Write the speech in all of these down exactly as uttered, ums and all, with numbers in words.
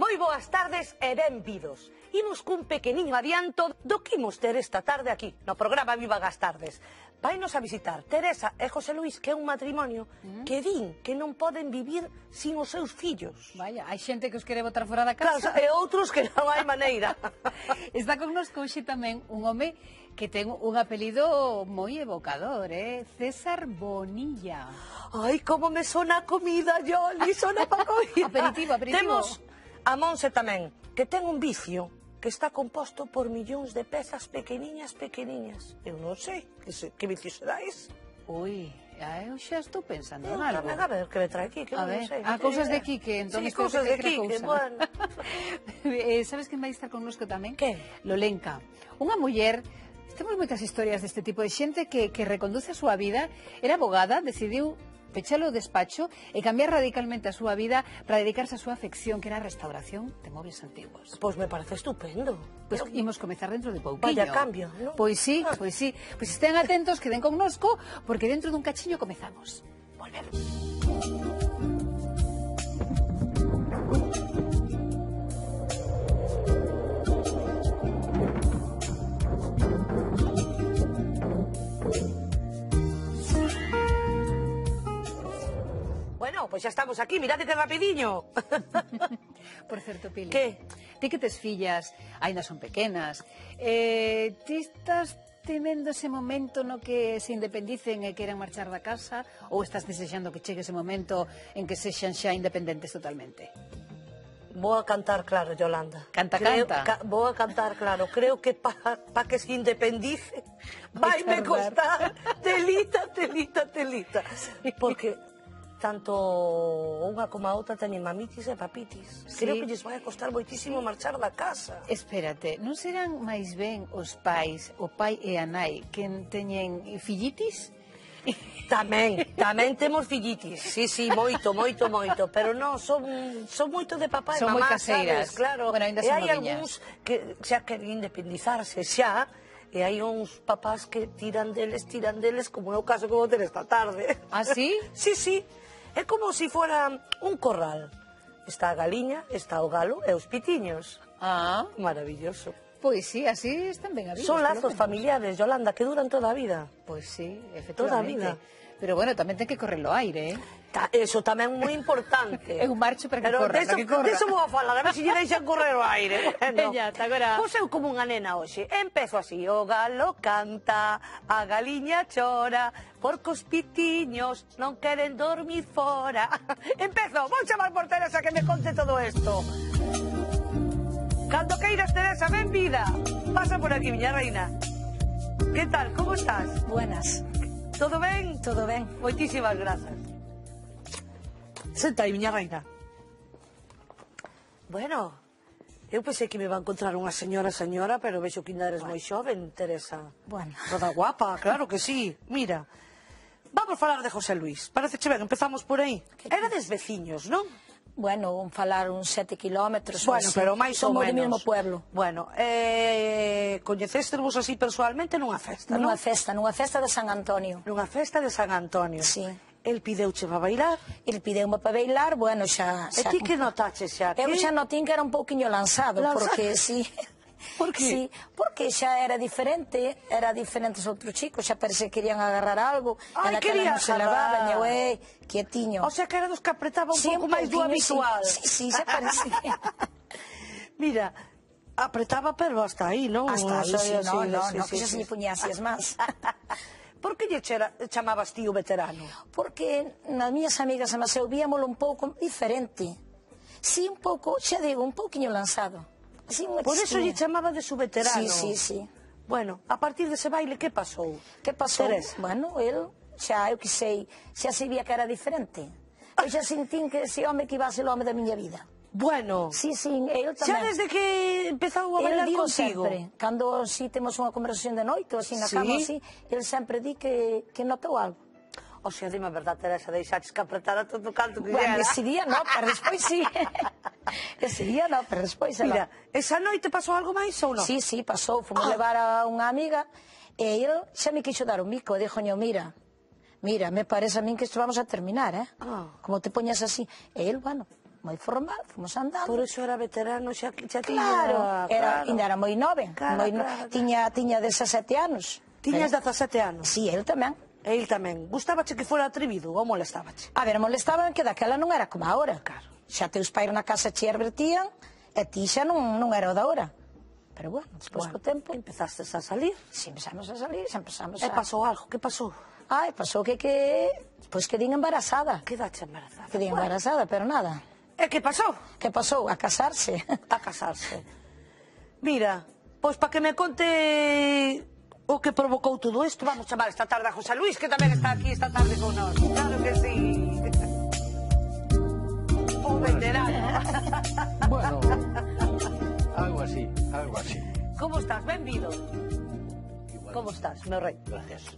Moi boas tardes e benvidos. Imos cun pequeniño adianto do que imos ter esta tarde aquí, no programa Viva as Tardes. Vainos a visitar Teresa e José Luís, que é un matrimonio mm. que din que non poden vivir sin os seus fillos. Vaya, hai xente que os quere botar fora da casa. Claro, e outros que non hai maneira. Está connosco hoxe tamén un home que ten un apelido moi evocador, eh? César Bonilla. Ai, como me sona a comida, Yoli, sona pa comida. Aperitivo, aperitivo. Temos a Monse tamén, que ten un vicio que está composto por millóns de pezas pequeniñas, pequeniñas. Eu non sei, que, se, que vicio será ese? Ui, eu xa estou pensando en algo. A ver, que me trae aquí, que a non ver, sei. A cousas de Quique, entón sí, cousas de Quique, bueno. eh, sabes quen vai estar connosco tamén? Que? Lolenca, unha muller. Temos moitas historias deste tipo de xente que, que reconduce a súa vida. Era abogada, decidiu pechar o despacho e cambiar radicalmente a súa vida para dedicarse a súa afección, que era a restauración de móviles antiguos. Pois me parece estupendo. Pois pues imos comezar dentro de pouquiño. Vaya cambio, non? Pois sí, pois sí. Pois estén atentos, queden connosco, porque dentro dun cachiño comezamos. Volvemos. Bueno, pois xa estamos aquí, mirade que rapidiño. Por certo, Pili, que? Ti que tes fillas, ainda son pequenas, eh, ti estás temendo ese momento no que se independicen e queran marchar da casa, ou estás desexando que chegue ese momento en que sexan xa independentes totalmente? Vou a cantar claro, Yolanda. Canta, Creo, canta. Ca, vou a cantar claro. Creo que para pa que se independice vai me costar telita, telita, telita. Porque tanto unha como a outra teñen mamitis e papitis. Sí. Creo que lles vai a costar moitísimo marchar da casa. Espérate, non serán máis ben os pais, o pai e a nai, que teñen fillitis? Tamén, tamén temos fillitis. Sí, sí, moito, moito, moito. Pero non, son, son moito de papá e mamá, sabes, claro. Bueno, ainda e son hai algúns que xa queren independizarse xa, e hai uns papás que tiran deles, tiran deles, como é o caso que vou ter esta tarde. Ah, sí? Sí, sí. É como se fora un corral. Está a galiña, está o galo e os pitiños. Ah. Maravilloso. Pois sí, así están ben habidos. Son lazos familiares, Yolanda, que duran toda a vida. Pois sí, efectivamente. Toda a vida. Pero bueno, tamén ten que correr o aire, eh? Ta, eso tamén é moi importante. É un marcho para que Pero corra, deso, para que corra. Deso vou a falar, a ver se lle deixan correr o aire. Bueno, ya, agora... Pois eu como unha nena hoxe. Empezo así, o galo canta, a galiña chora, porque os pitiños non queren dormir fora. Empezo, vou chamar por Teresa que me conte todo isto. Cando queiras, Teresa, ben vida. Pasa por aquí, miña reina. Que tal, como estás? Buenas. Todo ben? Todo ben. Moitísimas grazas. Senta aí, miña reina. Bueno, eu pensei que me iba a encontrar unha señora, señora, pero vexo que ainda eres moi xoven, Teresa. Bueno. Toda guapa, claro que sí. Mira, vamos falar de José Luís. Parece ben, empezamos por aí. Erades veciños, non? Bueno, un falar uns sete kilómetros. Bueno, pero máis ou menos. Somos do mesmo pueblo. Bueno, eh, coñecéstervos así personalmente nunha festa, non? Nunha festa, nunha festa de San Antonio. Nunha festa de San Antonio. Sí. El pideuche para bailar. El pideume para bailar, bueno, xa... E ti que notache xa? Eu xa notín que era un pouquiño lanzado, porque sí... Por que? Sí, porque xa era diferente, era diferente os outros chicos, xa parece que querían agarrar algo, Ai, e naquela non se levaban, eu, ei, quietiño. O sea, que era dos que apretaba un sí, pouco máis do habitual. Sí, sí, sí, xa parecía. Mira, apretaba, pero hasta aí, non? Hasta aí, sí, no, no, sí, no, sí, que xa sí, se lle puñía así as mans. Por que lle chamabas tío veterano? Porque nas miñas amigas e eu víamolo un pouco diferente. Sí, un pouco, xa digo, un pouquiño lanzado. Sí, por eso lle chamaba de su veterano. Sí, sí, sí. Bueno, a partir dese baile, que pasou? Que pasou? Teresa. Bueno, el, xa, eu que sei, xa sabía que era diferente. Eu xa sentín que ese home que iba a ser o home da miña vida. Bueno. Sí, sí, el tamén. Xa desde que empezou a bailar consigo? Sempre, cando si temos unha conversación de noite, ou así na cama, así, el sempre di que, que notou algo. O sea, dime a verdade, Teresa, deixaches que apretara todo o canto que bueno, era. Ese día no, pero despois sí. Ese día no, pero despois ela... Mira, esa noite pasou algo máis ou non? Sí, sí, pasou. Fomos ah. levar a unha amiga e ele xa me quixo dar un bico. E dixoño, mira, mira, me parece a min que isto vamos a terminar, eh? Ah. Como te poñas así. E ele, bueno, moi formal, fomos andando. Por eso era veterano, xa, xa tiña... Claro, era, claro. ainda era moi nove, Claro, moi no, claro. tiña, tiña dezasete anos. Tiñas dezasete anos? Si, el tamén. E il tamén. Gustábache que fora atrevido ou molestábache? A ver, molestaban que daquela non era como agora. Claro. Xa teus pais na casa che advertían, e ti xa non, non era o da hora. Pero bueno, despois Bueno, co tempo... Empezastes a salir. Si empezamos a salir, xa empezamos E a... pasou algo, que pasou? Ai, pasou que que... Pois que din embarazada. Quedache embarazada. Que din Bueno, embarazada, pero nada. E que pasou? Que pasou? A casarse. A casarse. Mira, pois para que me conte o que provocou todo isto, vamos chamar esta tarde a José Luis, que tamén está aquí esta tarde con nós. Claro que sí. Un veterano. Bueno, algo así, algo así. Como estás? Benvido. Igual. Como estás, meu rei? Gracias.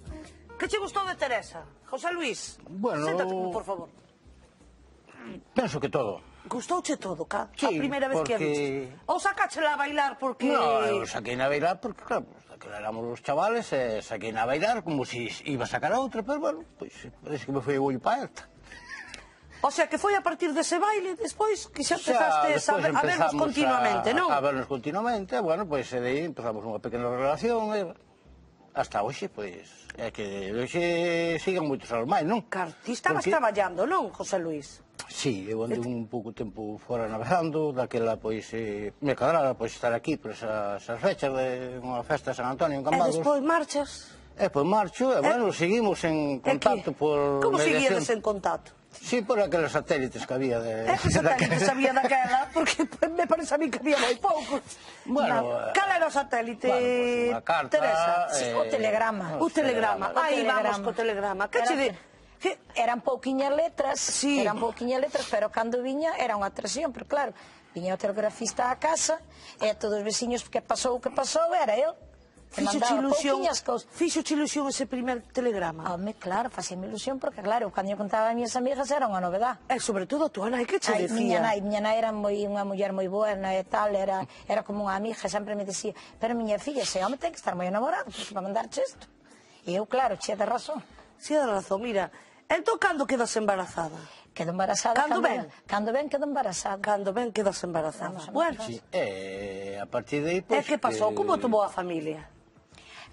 Que che gustou de Teresa? José Luis, Bueno, séntate, por favor. Penso que todo. Gustouche todo, ca? Sí, a primeira vez que a porque- viste? Ou sacáchela a bailar porque... No, eu saquei na bailar porque, claro, que éramos os chavales, e saquei na bailar como se iba a sacar a outra, pero bueno, pois parece que me foi o ollo para esta. O sea, que foi a partir dese baile, despois, que xa empezaste a, despois ver- a vernos empezamos continuamente, a, non? A vernos continuamente, bueno, pois e de aí empezamos unha pequena relación, e hasta hoxe, pois, é que hoxe sigan moitos anos máis, non? Claro, ti estabas Porque- traballando, non, José Luis? Sí, eu andei un pouco tempo fora navegando, daquela, pois, eh, me cadrara, pois, estar aquí por esas, esas fechas de unha festa de San Antonio en E Cambados. despois marchas? E, pois, marcho, e, bueno, seguimos en E que? contacto por Como mediación. seguíades en contacto? Sí, por aqueles satélites que había de... É que satélite sabía daquela, porque me parece a mí que había moi poucos. Bueno, Na- Cal era o satélite, bueno, pues unha carta, Teresa? Sí, eh, o telegrama. O telegrama. O Aí telegrama. vamos co telegrama. Que Era che de... que- Que... Eran pouquiñas letras, Sí. eran pouquiñas letras, pero cando viña era unha atracción, pero claro, viña o telegrafista á casa, e todos os veciños que pasou o que pasou era el. Que Fixo mandaba ilusión, pouquiñas cousas. fixo ilusión ese primer telegrama. Home, claro, facíame ilusión, porque claro, cando eu contaba a miñas amigas era unha novedad. E sobre todo a tua nai, que che Ai, miña decía? nai, miña nai era moi unha muller moi buena e tal, era era como unha amiga, sempre me dicía, pero miña filla, ese home ten que estar moi enamorado, porque para mandarche isto. E eu, claro, che de razón. Si, da razón, mira. Entón, cando quedas embarazada? Quedo embarazada. Cando ben? Cando ben, quedo embarazada. Cando ben quedas embarazada. Vamos a Bueno, Sí, e a partir de aí, e pois... que pasou? Como tomou a familia?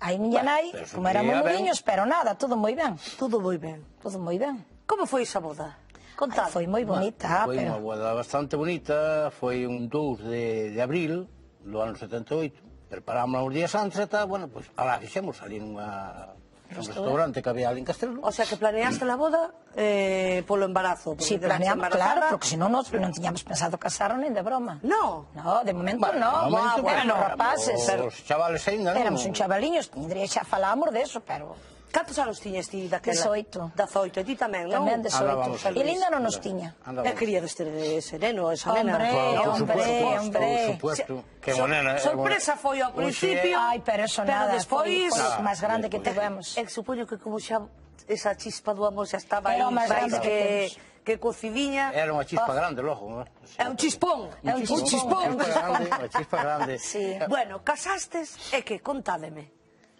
Aí miña Bueno, nai, pero como éramos sufría ben. moriños, pero nada, todo moi ben. Todo moi ben. Todo moi ben. Como foi esa boda? Ai, Contad. foi moi bonita, Foi unha pero... boda bastante bonita, foi un dous de, de abril do ano setenta e oito. Preparámosla uns días antes e tal, bueno, pois, alá fixemos ali nunha... un restaurante que había ali en Castrelo. O sea, que planeaste la boda eh, polo embarazo. porque Si, quedaste planeamos, embarazada. claro, porque senón non, non tiñamos pensado casarnos nin de broma. No. No, de momento Bueno, no. de momento, Bueno, éramos bueno, rapaces. Os chavales ainda non... Éramos un chavaliños, tindría xa falábamos de eso, pero... Cantos anos tiñes ti daquela? Dezoito. Dezoito. E ti tamén, non? Tamén dezoito. Andábamos E Linda non nos tiña. E queríades ter ese neno, esa nena. Hombre, Por hombre, supuesto, hombre. por supuesto. Que So- monena, sorpresa foi ao principio. Ai, pero eso nada, despois... foi, foi Nada, o máis grande que despois. tivemos. E supoño que como xa esa chispa do amor xa estaba aí Era o máis máis grande que que, temos. que cocidiña. Era unha chispa grande, logo. ¿No? É un chispón. É un chispón. Unha chispa grande, unha chispa grande. Sí. Bueno, casastes e que? Contádeme.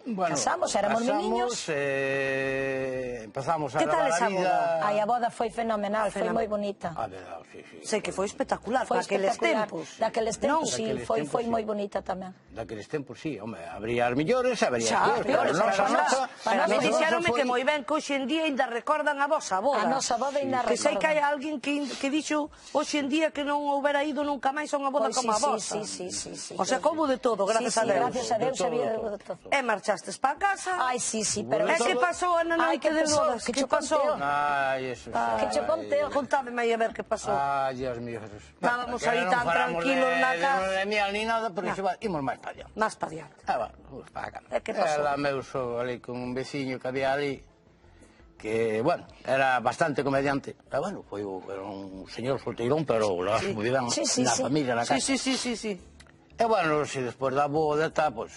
Bueno, Casamos, éramos meniños. Eh, empezamos a Que tal gravar esa a vida... boda? Ai, a boda foi fenomenal, foi Fenomenal. moi bonita. A verdade, sí, sí. Sei que foi espectacular, Foi naqueles espectacular. tempos. Daqueles tempos, sí, Daqueles foi, tempos, foi sí. moi bonita tamén. Daqueles tempos, sí, home, habría as millores, habría Xa, as peores, peores, pero pero a nosa, nosa... pero a mí nosa dixéronme foi- que moi ben que hoxe en día ainda recordan a vosa boda. A nosa boda ainda Que sei que hai recordan. alguén que, que dixo hoxe en día que non houbera ido nunca máis a unha boda Pois como a sí, vosa. sí, sí, sí, sí, O sea, sí. como de todo, gracias sí, a sí, Deus. gracias a Deus De todo, había de todo. de todo. E marchastes para casa. Ai, sí, sí, pero... E que pasou na Ai, noite que de pasou? bodas? Que Que che pasou? conteo? Ai, eso... Que che conteo? Contádeme aí a ver que pasou. Ai, Dios mío, Jesús. Estábamos Que aí non tan falamos tranquilos de- na de casa. luna de miel ni nada, pero iso va, imos máis para allá. Más para diante. Ah, va, vamos para acá. E que pasou? Ela meu sogro ali con un veciño que había ali, que, bueno, era bastante comediante. Pero, bueno, foi o- era un señor solteirón, pero lo sí. moi ben, Sí, sí, na sí. familia, na Sí, casa. sí, sí, sí, sí. E, bueno, se despois da boda, tá, pois,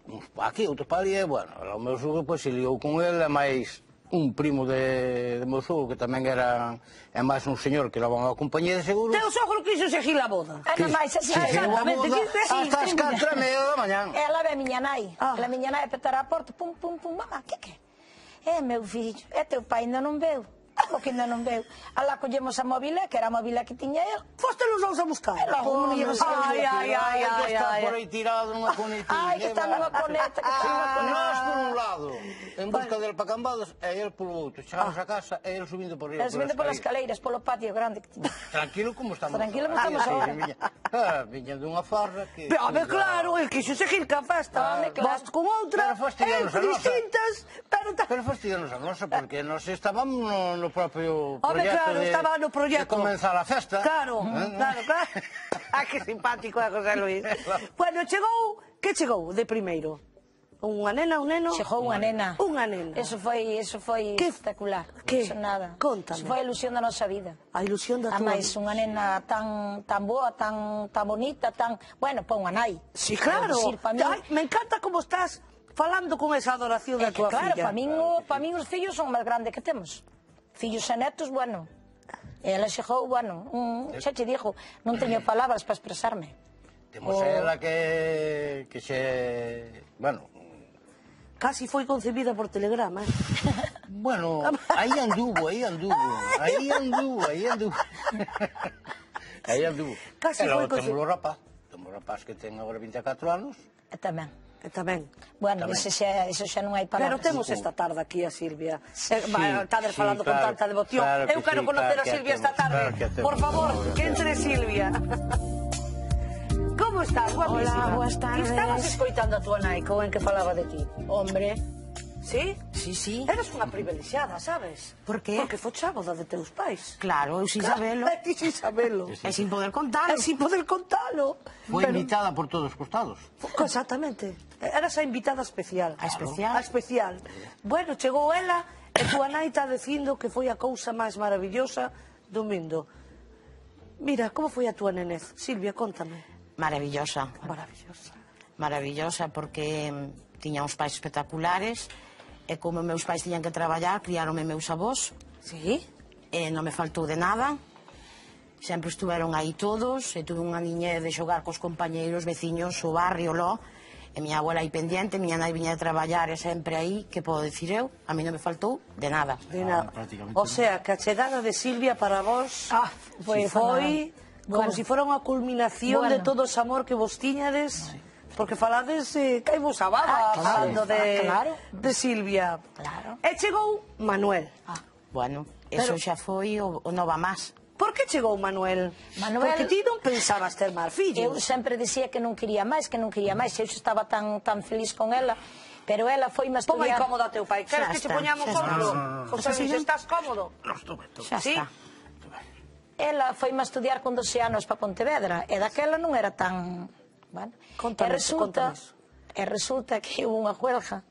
uns pa aquí, outros pa ali, e, bueno, o meu sogro, pois, se liou con ele, e máis un primo de, de meu sogro, que tamén era, é máis un señor que leva unha compañía de seguros. Teu sogro quiso seguir a boda. Ah, non máis, así, Se así. seguiu a exactamente, boda que- sí, hasta as sí, catro e media da mañán. Ela ve a miña nai. Ah. Ela miña nai a petar a porta, pum, pum, pum, mamá, que que? É, meu fillo, é teu pai ainda non veu. Algo que ainda non veu. Alá collemos a mobile, que era a mobile que tiña el. Foste los dous a buscar. Logo non llevas a Ai, ai, ai, ai, Está ai. por aí tirado nunha conetilla. Ai, que está nunha coneta, que está nunha coneta. Nós por un lado, en busca del pa Cambados, e el polo outro. Chegamos a casa e el subindo por arriba. El subindo polas escaleiras, polo patio grande que tiña. Tranquilo como estamos. Tranquilo como ahora. estamos Sí, ahora. viña- Ah, viña dunha farra que... A ver, claro, el quixo seguir ca festa. Home, claro. Vas con outra, Pero fastidianos a eh, nosa. distintas, pero... ta- Pero fastidianos a nosa, porque nos estábamos no, no propio Home, proxecto claro, de, estaba no proxecto. de comenzar a festa. Claro, Eh, claro, claro. Ah, que simpático é José Luis. Bueno, chegou, que chegou de primeiro? Unha nena, un neno? Chegou unha nena. Unha nena. Eso foi, eso foi Que- espectacular. que? Eso nada. Contame. Eso foi a ilusión da nosa vida. A ilusión da A tua máis, unha nena tan tan boa, tan tan bonita, tan, bueno, pa unha nai. Sí, claro. Quero dicir, pa min, Ai, me encanta como estás falando con esa adoración é da que, tua claro, filla. pa min, o- pa min os fillos son o máis grande que temos. Fillos e netos, bueno. E ela chegou, bueno, un, xa te dixo, non teño palabras para expresarme. Temos O- ela que, que xe... Bueno, Casi foi concebida por telegrama, eh? bueno, aí anduvo, aí anduvo, aí anduvo, aí anduvo. Aí anduvo. Casi E logo foi temos o rapaz, temos o rapaz que ten agora vinte e catro anos. E tamén. E tamén. Bueno, Tamén. ese xa, eso xa non hai Pero palabras. temos esta tarde aquí a Silvia. Eh, va, Estades sí, falando con claro, tanta devoción. claro que Eu quero sí, conocer claro a que Silvia esta temos, tarde. claro que temos. Por favor, que entre Silvia. Como estás, guapísima? Hola, boas tardes. Estabas escoitando a tua nai con en que falaba de ti. Hombre, Sí? sí, sí. Eres unha privilexiada, sabes? Por qué? Porque focha a boda de teus pais. Claro, eu sin sabelo. E ti sin sabelo. E sin poder contar. E sin poder contalo. Foi Pero- invitada por todos os costados. Exactamente. Eras a invitada especial. A especial. A especial. Bueno, chegou ela e túa nai está dicindo que foi a cousa máis maravillosa do mundo. Mira, como foi a túa nenez? Silvia, contame. Maravillosa. Maravillosa. Maravillosa porque mm, tiña uns pais espectaculares e como meus pais tiñan que traballar, criaronme meus avós Sí? e non me faltou de nada. Sempre estuveron aí todos e tuve unha niñez de xogar cos compañeiros, veciños, o barrio, lo. E miña abuela aí pendiente, miña nai viña de traballar e sempre aí, que podo dicir eu? A mí non me faltou de nada. De nada. prácticamente O sea, que a chegada de Silvia para vos Ah, foi si foi como Bueno. si fora unha culminación de Bueno. todo o amor que vos tiñades. Porque falades eh, que hai vos a baba Ah, claro. falando de, Ah, claro. de Silvia. Claro. E chegou Manuel. Bueno, eso Pero- xa foi o, o nova más. Por que chegou Manuel? Manuel- Porque ti non pensabas ter máis fillos. Eu sempre dicía que non quería máis, que non quería máis. Eu xa estaba tan tan feliz con ela, pero ela foi máis Pon aí estudiar. cómodo a teu pai. Queres Xa que che está, poñamos xa está. outro? No, no, no, José Luis, estás cómodo? Xa Sí? está. Ela foi máis estudiar con doce anos para Pontevedra, e daquela non era tan... Bueno. Contanos, e resulta, contanos. e resulta que hubo unha huelga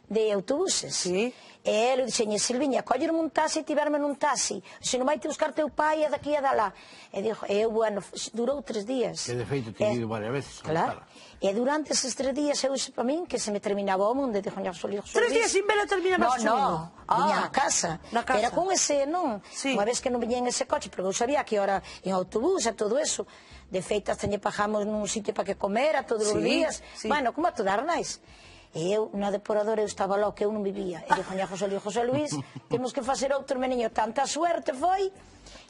de autobuses. Sí. E ele dixeñe, Silviña, coller un taxi e tiverme nun taxi. Se non vai te buscar teu pai e daqui e dalá. E dixo, eu, bueno, durou tres días. Que de feito te E- ido varias veces. a Claro. buscala. E durante eses tres días eu dixo para min que se me terminaba o mundo. E dixo, José Luis, Tres días sin vela terminabas No, o mundo? no, viña Ah, a casa. na casa. Pero con ese, non. Sí. Unha vez que non viña en ese coche, porque eu sabía que hora en autobús e todo eso. De feito, hasta lle pagamos nun sitio para que comera todos os Sí, días. sí. Bueno, como a todas as nais. E eu, na depuradora, eu estaba logo que eu non vivía. E dixo, José Luis, José Luis, temos que facer outro meniño. Tanta suerte foi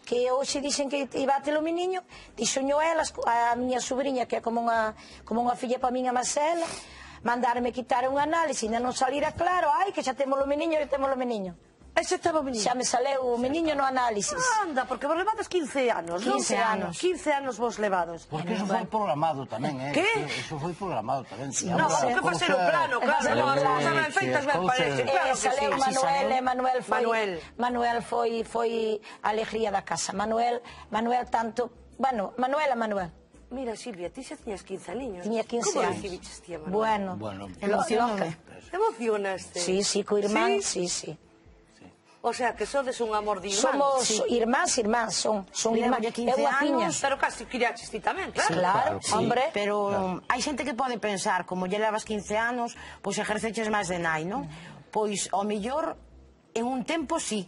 que hoxe dixen que iba a ter o meniño, dixoño elas, a miña sobrinha, que é como unha, como unha filla para min a Marcela, mandarme quitar un análise, ainda non salira claro, ai, que xa temos o meniño, e temos o meniño. Ese estaba o Xa menino. me saleu o meniño no análisis. Anda, porque vos levades quince anos, non? quince anos. quince anos vos levados. Porque eso foi programado tamén, eh? Que? Eso foi programado tamén. No, sei. que facer o plano, claro, Facer no, o as plano. cousas ben feitas ben Cousas- parece, Eh, claro E que sí. saleu sí, Manuel, saleu. e Manuel foi Manuel. Manuel foi foi a alegría da casa. Manuel, Manuel tanto, bueno, Manuel a Manuel. Mira, Silvia, ti xa tiñas quince niños. Tiña quince Como anos. recibiches ti a Manuel? Bueno. Bueno. Emocioname. Te emocionaste? Sí, sí, co irmán, Sí? sí, sí. O sea, que sodes un amor de irmán. Somos Sí. irmáns, irmáns, son, son Mira, irmáns. ya quince É unha piña. anos. Pero casi criaches ti tamén, claro. Claro, Claro, sí. hombre. Pero hai xente que pode pensar, como lle levas quince anos, pois exerceches máis de nai, non? Pois, ao millor, en un tempo, sí.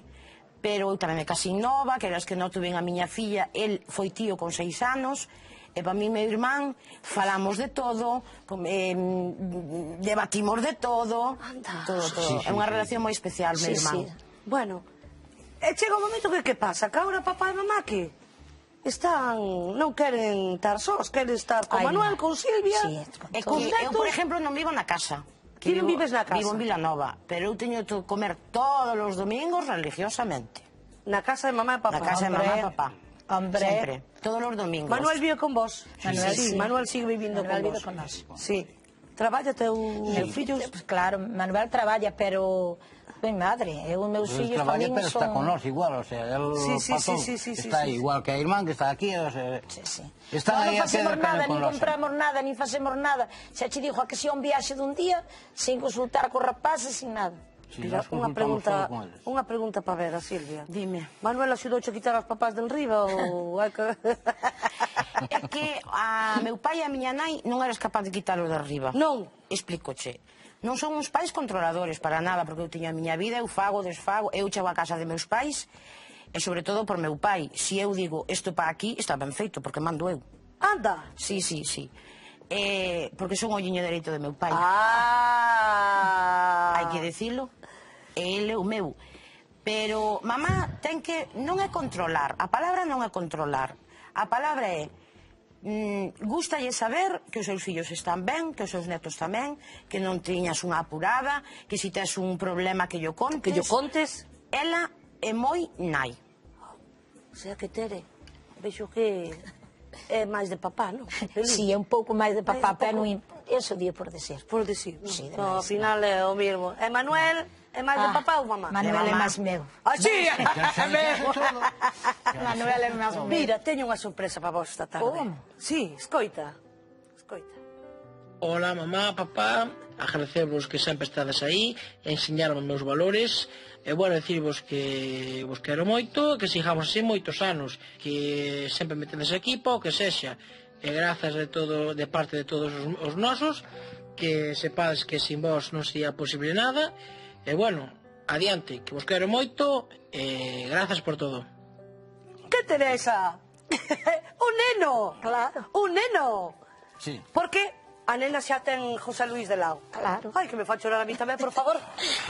Pero eu tamén me casei nova, que eras que non tuve a miña filla, el foi tío con seis anos, e para mí, meu irmán, falamos de todo, com- eh, debatimos de todo, Anda. todo, todo. Sí, sí, É unha sí. relación moi especial, meu Sí, irmán. sí. Bueno, E chega un momento que que pasa? Que agora papá e mamá que están, non queren estar sós, queren estar con Ai, Manuel, no. con Silvia. Sí, con É todo. que eu, por exemplo, non vivo na casa. Ti non Vivo- vives na casa? Vivo en Vilanova, pero eu teño que comer todos os domingos religiosamente. Na casa de mamá e papá. Na casa de Hombre, mamá e papá. hombre. Sempre, todos os domingos. Manuel vive con vos? Manuel, sí. sí. Manuel sigue vivindo Manuel con vive vos? con nós. Sí. Traballa teu fillo? Pues claro, Manuel traballa, pero... Mi madre, eu e meus Él fillos trabaja, tamén pero son... está con nós igual, o sea, él Sí, sí, pasó, sí, sí, sí, está sí, sí. igual que a irmán que está aquí, o sea, Sí, sí. están No, aí non a pie facemos del cañón nada, con nin nós. compramos nada, nin facemos nada. Xa che dixo a que si un viaxe dun día, sin consultar co rapaces, sin nada. Sí, Mira, nós unha consultamos pregunta, todo con eles. unha pregunta para ver a Silvia. Dime. Manuel axudouche a quitar as papás del riba ou hai que... É que a meu pai e a miña nai non eras capaz de quitalo de arriba. Non. Explícoche. Non son uns pais controladores para nada, porque eu teño a miña vida, eu fago, desfago, eu chego a casa de meus pais, e sobre todo por meu pai. Si eu digo, isto para aquí, está ben feito, porque mando eu. Anda. Sí, sí, sí. Eh, porque son o olliño dereito de meu pai. Ah. Hai que dicilo. Ele é o meu. Pero mamá ten que... Non é controlar. A palabra non é controlar. A palabra é... Mm, gústalle saber que os seus fillos están ben, que os seus netos tamén, que non tiñas unha apurada, que si tes un problema que yo contes. Que yo contes. Ela é moi nai. O sea que Tere, vexo que é máis de papá, non? Si, é un pouco máis de papá, Máis de pero pouco. non... Eso di por decir. Por decir, non? Sí, de No, ao máis, final é o mismo. E Manuel é máis de Ah, papá ou mamá? Manuel é mamá. máis meu. Ah, sí! Manuel é máis meu. Mira, teño unha sorpresa para vos esta tarde. Como? Sí, escoita. Escoita. Hola, mamá, papá, agradecevos que sempre estades aí, enseñarme meus valores, e bueno, decirvos que vos quero moito, que sigamos así moitos anos, que sempre me tedes aquí, pa o que sexa, e grazas de todo, de parte de todos os, os nosos, que sepades que sin vos non sería posible nada, e bueno, adiante, que vos quero moito, e grazas por todo. Que Teresa? Un neno. Claro. Un neno. Sí. Porque a nena xa ten José Luis de Lao. Claro. Ai, que me fa chorar a mí tamén, por favor.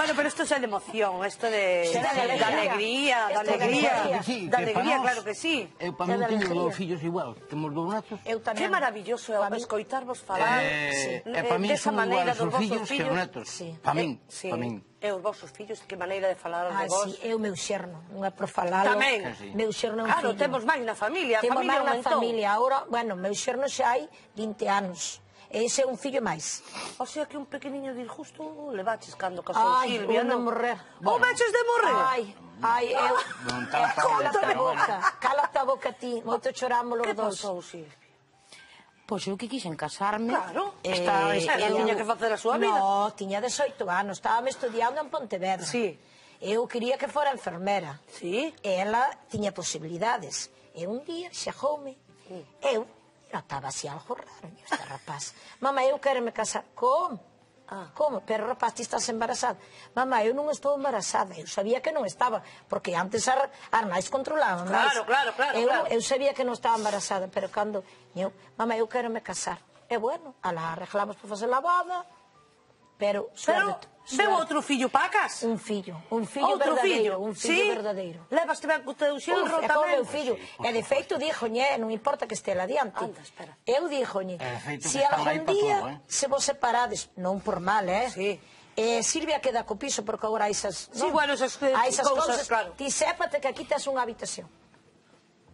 Bueno, pero isto xa é de emoción, isto de... Xa de de alegría. alegría, de Isto é de alegría. alegría. Sí, De que alegría, para claro nós- que sí. Eu para É mí de teño alegría. dous fillos igual, temos dous netos. Eu tamén. Que maravilloso é Pa mí- escoitarvos falar Eh, eh, e para min desa son maneira iguales dos os vosos fillos que os netos. Sí. Para min, Eh, sí. para min. E os vosos fillos, que maneira de falar de Ah, vos. si, é o meu xerno, non é por falalo. Tamén. Sí. Meu xerno é un Claro, fillo. temos máis na familia, a Temos familia máis na aumentou. familia. Ahora, bueno, meu xerno xa hai vinte anos. Ese é un fillo máis. O sea que un pequeniño disgusto levaches cando casou Ai, Silvia, un de non? morrer. Ou veches de morrer? Ai, ai, eu... Non tan fácil, Cálate a pero boca, cálate a boca ti. Moito choramos os Que dos. pasou, Silvia? Pois eu que quixen casarme. Claro, eh, está, ela eu- tiña que facer a súa vida. No, tiña dezoito anos, estábame estudiando en Pontevedra. Sí. Eu quería que fora enfermera. Sí. E ela tiña posibilidades. E un día xejoume. Eu notaba así algo raro, este rapaz. Mamá, eu quero me casar. Como? Ah. Como? Pero rapaz, ti estás embarazada. Mamá, eu non estou embarazada. Eu sabía que non estaba, porque antes as as nais controlaban máis. Claro, claro, claro, Eu, claro. eu sabía que non estaba embarazada, pero cando eu, mamá, eu quero me casar. E bueno, ala arreglamos para facer a boda, pero Pero suerte, veu suerte. outro fillo pacas? Un fillo, un fillo Outro verdadeiro, fillo? un fillo Sí? verdadeiro. Levaste ben co teu Uf, xenro é como tamén? meu fillo. E de feito díjoñe, non importa que este adiante. Anda, espera. Eu díjoñe, E de feito se que están algún aí pa día todo, eh. se vos separades, non por mal, eh? Sí. Eh, Silvia queda co piso porque agora hai esas, Sí, non? bueno, esas, eh, Hai esas cousas, cousas, claro. ti sépate que aquí tes unha habitación.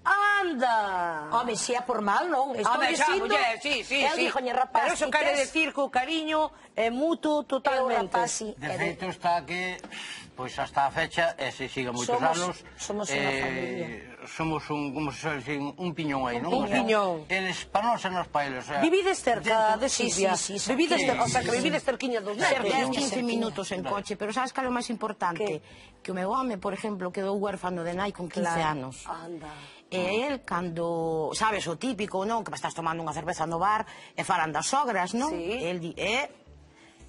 Anda! Home, se é por mal, non. Estou Home, xa, dicindo, muller, sí, sí, eu sí. díjoñe, rapaz, Pero eso ti quere tes- decir que o cariño é mutuo eu, totalmente. rapaz, sí, De e de- feito está que, pois hasta a fecha, e se siga moitos Somos- anos, somos unha familia. somos un, como se suele decir, un piñón aí, non? Un O sea, piñón. Eles, para nós e nos para eles, o sea, Vivides cerca de Sí, Silvia. sí, sí, Vivides sí, cer- o sea, sí, que sí. vivides cerquiña dos Cerca, netos. dez, Cerquiña, quince cerquiña. minutos en coche, pero sabes cal é o máis importante? Que o meu home, por exemplo, quedou huérfano de nai con quince Claro. anos. Anda. E el, cando, sabes, o típico, non? Que estás tomando unha cerveza no bar e falan das sogras, non? Sí. El di, é,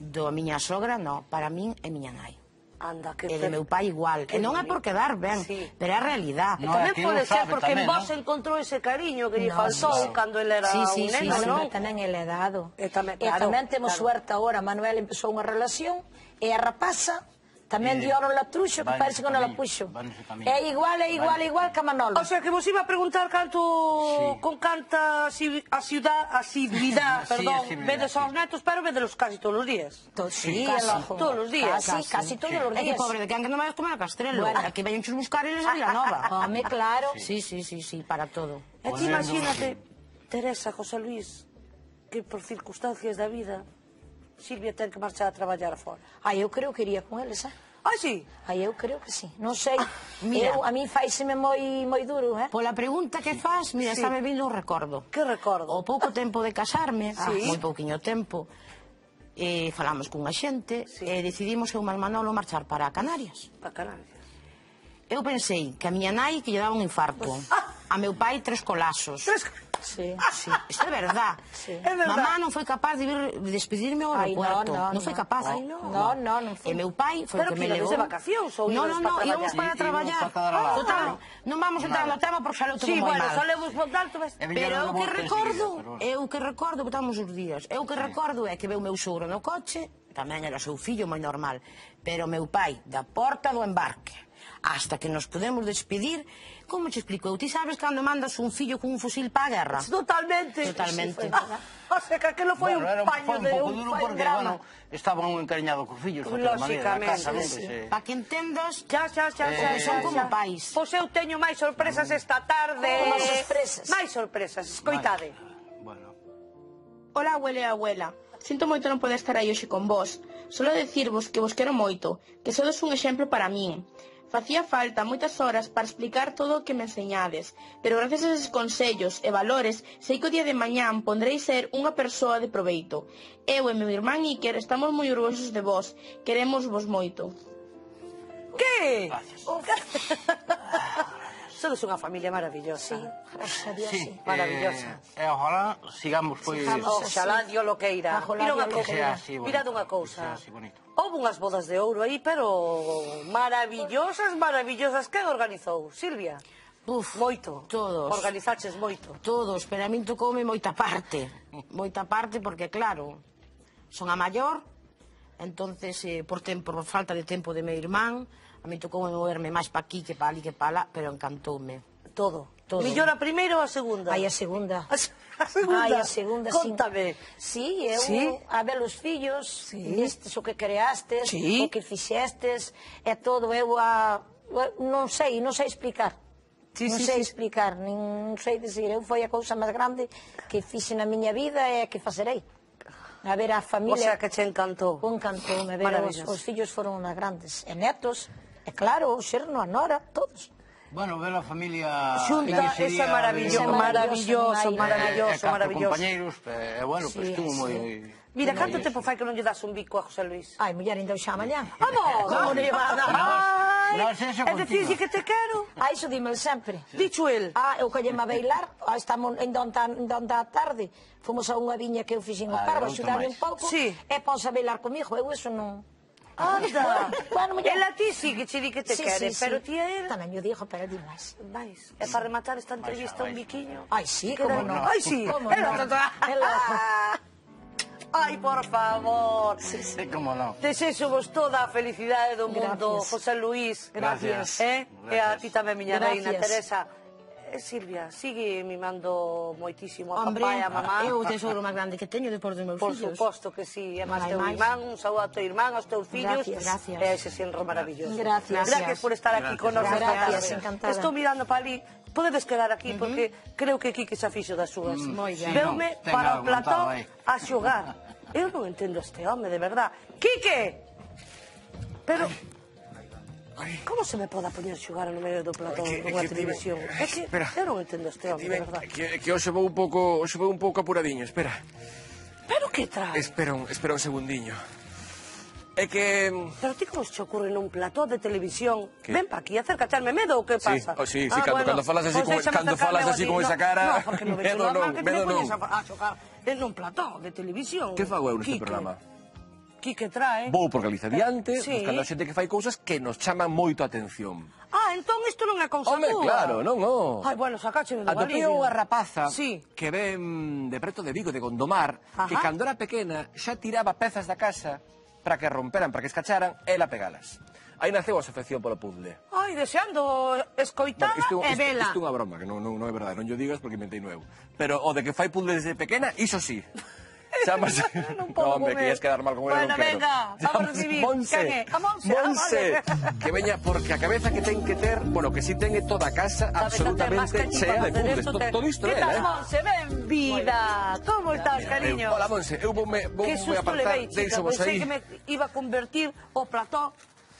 do miña sogra, non, para min é miña nai. Anda, que E de meu pai igual. E non é por quedar ben, Sí. pero é a realidad. E No, tamén é que pode non ser sabe porque en tamén, vos non? encontrou ese cariño que lle No, faltou sí. cando ele era Sí, sí, un sí, neno, sí, non? Tamén, tamén ele é dado. E tamén, E claro, tamén temos claro. suerte agora. Manuel empezou unha relación e a rapaza Tamén di oro la truxo, que parece que non la puxo. É igual, é igual, é igual que a Manolo. O sea, que vos iba a preguntar canto, con canta asiduidad, perdón, vedes aos netos, pero vedelos casi todos os días. Sí, todos os días. Casi, casi todos os días. É que pobre de quen que non vai comer a Castrelo. Aquí veñen chus buscar eles a Vilanova. Home, claro. Sí, sí, sí, sí, para todo. E ti imagínate, Teresa, José Luis, que por circunstancias da vida Silvia ten que marchar a traballar fora. Ai, eu creo que iría con eles, eh? Ai, sí? Ai, eu creo que sí. Non sei, eu, a mí faiseme moi moi duro, eh? Pola pregunta que faz, mira, está me vindo un recordo. Que recordo? O pouco tempo de casarme, moi pouquiño tempo, falamos cunha xente e decidimos eu e o Manolo marchar para Canarias. Para Canarias. Eu pensei que a miña nai que lle daba un infarto. A meu pai tres colazos. Sí, sí, isto é verdad. Mamá non foi capaz de vir despedirme ao aeropuerto. Non foi capaz. Non, non, non foi. E meu pai foi o que me levou. Pero que de vacacións ou Non, non, non, íbamos para traballar. Total, non vamos entrar no tema porque xa lo tuvo moi mal. Sí, bueno, solemos montar... Pero eu que recordo, eu que recordo, botamos os días, eu que recordo é que veu meu sogro no coche, tamén era o seu fillo moi normal, pero meu pai da porta do embarque hasta que nos podemos despedir, como te explico? Ti sabes cando mandas un fillo con un fusil para a guerra? Totalmente. Totalmente. O sea, que aquilo foi un paño de un drama. Estaban un encariñados cos fillos, de outra maneira, na casa, non? Para que entendas, xa, xa, xa, xa, son como pais. Pois eu teño máis sorpresas esta tarde. Como sorpresas? Máis sorpresas, escoitade. Hola, abuela e abuela. Sinto moito non poder estar aí hoxe con vos. Solo decirvos que vos quero moito, que sodes un exemplo para min. Facía falta moitas horas para explicar todo o que me enseñades, pero gracias a eses consellos e valores sei que o día de mañán pondrei ser unha persoa de proveito. Eu e meu irmán Iker estamos moi orgullosos de vos, queremos vos moito. Que? Sodes unha familia maravillosa. Gracias a Dios, sí. Maravillosa. E ojalá sigamos, pois... Oxalá Dios lo queira. Mira unha cousa. Mirad unha cousa. Houve unhas bodas de ouro aí, pero maravillosas, maravillosas. Quen organizou? Silvia? Uf, moito. Todos. Organizaches moito. Todos, pero a min tocoume moita parte. Moita parte porque, claro, son a maior, entonces, eh, por, tempo, por falta de tempo de meu irmán, a mí tocoume moverme máis pa aquí que pa ali que pa lá, pero encantoume. Todo. Todo. Millor a primeira ou a segunda? Ai, a segunda. A segunda? Ai, a segunda, sí. Contame. Sí, eu, sí? a ver os fillos, vistes o que creastes, sí. o que fixestes, é todo, eu a... non sei, non sei explicar. Sí, non sí, sei sí. explicar, non sei dicir, eu foi a cousa máis grande que fixe na miña vida e que facerei. A ver a familia... O sea, que che encantou. Un encantou, me ver, os, os fillos foron unhas grandes. E netos, e claro, o xerno, a nora, todos. Bueno, ver a familia... Xunta, esa é maravilloso, maravilloso, maravilloso, maravilloso. Compañeiros, e bueno, pois estuvo moi... Mira, canto tempo fai que non lle das un bico a José Luis? Ai, muller, ainda o xa mañá. Vamos! Como non lle va a dar? É dicir que te quero? Ah, iso dímelo sempre. Dicho el. Ah, eu colleme a bailar, estamos en donde a tarde, fomos a unha viña que eu fixen o cargo, axudarme un pouco, e ponse a bailar comigo, eu iso non... Anda, bueno, ela ti sí que che di que te sí, quere, sí, pero sí. ti a él... Tamén yo digo, pero di máis. Vais, é para rematar esta entrevista un biquiño. Ai, sí, como non. Ai, sí, como non. Ai, por favor. Sí, sí, como non. Desexo vos toda a felicidade do mundo, José Luis. Gracias. Eh? E a ti tamén, miña reina, Gracias. Teresa. Eh, Silvia, sigue mimando moitísimo a Hombre, papá e a mamá. eu o tesouro máis grande que teño depois dos meus Por fillos. suposto que sí, e máis Non hai teu máis. irmán, un saúdo a teu irmán, aos teus fillos. Gracias. Gracias. E ese senro maravilloso. Gracias. Gracias por estar aquí con nosotros. Gracias, encantada. Estou mirando para ali. Podedes quedar aquí, porque creo que Quique xa fixo das súas. Moi ben. Veume Ten para o algo platón montado aí. a xogar. Eu non entendo este home, de verdad. Quique! Pero... Como se me pode poñer xogar no medio do platón dunha televisión? É que eu non entendo este home, de verdad. Que, que hoxe vou un pouco, hoxe vou un pouco apuradiño, espera. Pero que trae? Espera un, espera un segundiño. É que... Pero ti como se te ocurre nun plató de televisión? Ven pa aquí, acércate, me medo ou que Sí, pasa? oh, sí, sí, cando- cando falas así con- cando falas así con esa cara, No, porque non vexo medo normal non, que te me medo poñes non. a, a xogar en un plató de televisión. Que fago eu neste Quique. programa? Quique trae. Vou por Galicia diante, Sí. buscando a xente que fai cousas que nos chaman moito a atención. Ah, entón isto non é cousa Home, túa. claro, non, non. Ai, bueno, sacácheme do Atopeo barriga. a rapaza Sí. que ven de preto de Vigo, de Gondomar, Ajá. que cando era pequena xa tiraba pezas da casa para que romperan, para que escacharan, ela pegalas. aí naceu a afección polo puzzle. Ai, deseando escoitala e vela. Isto é unha broma, que non é verdade, non yo digas porque inventei nuevo. Pero o de que fai puzzle desde pequena, iso sí. Chámase... Non podo Hombre, que ias quedar mal con ele, non Bueno, quero. venga, vamos a recibir. Quen é? A Monse. Monse, que veña, porque a cabeza que ten que ter, bueno, que si ten toda a casa absolutamente chea de puzzles. Todo isto é, eh? Que tal, eh? Monse? Ben vida. Como estás, cariño? Hola, Monse, eu voume apartar, deixo vos Pensei aí. que me iba a convertir o plató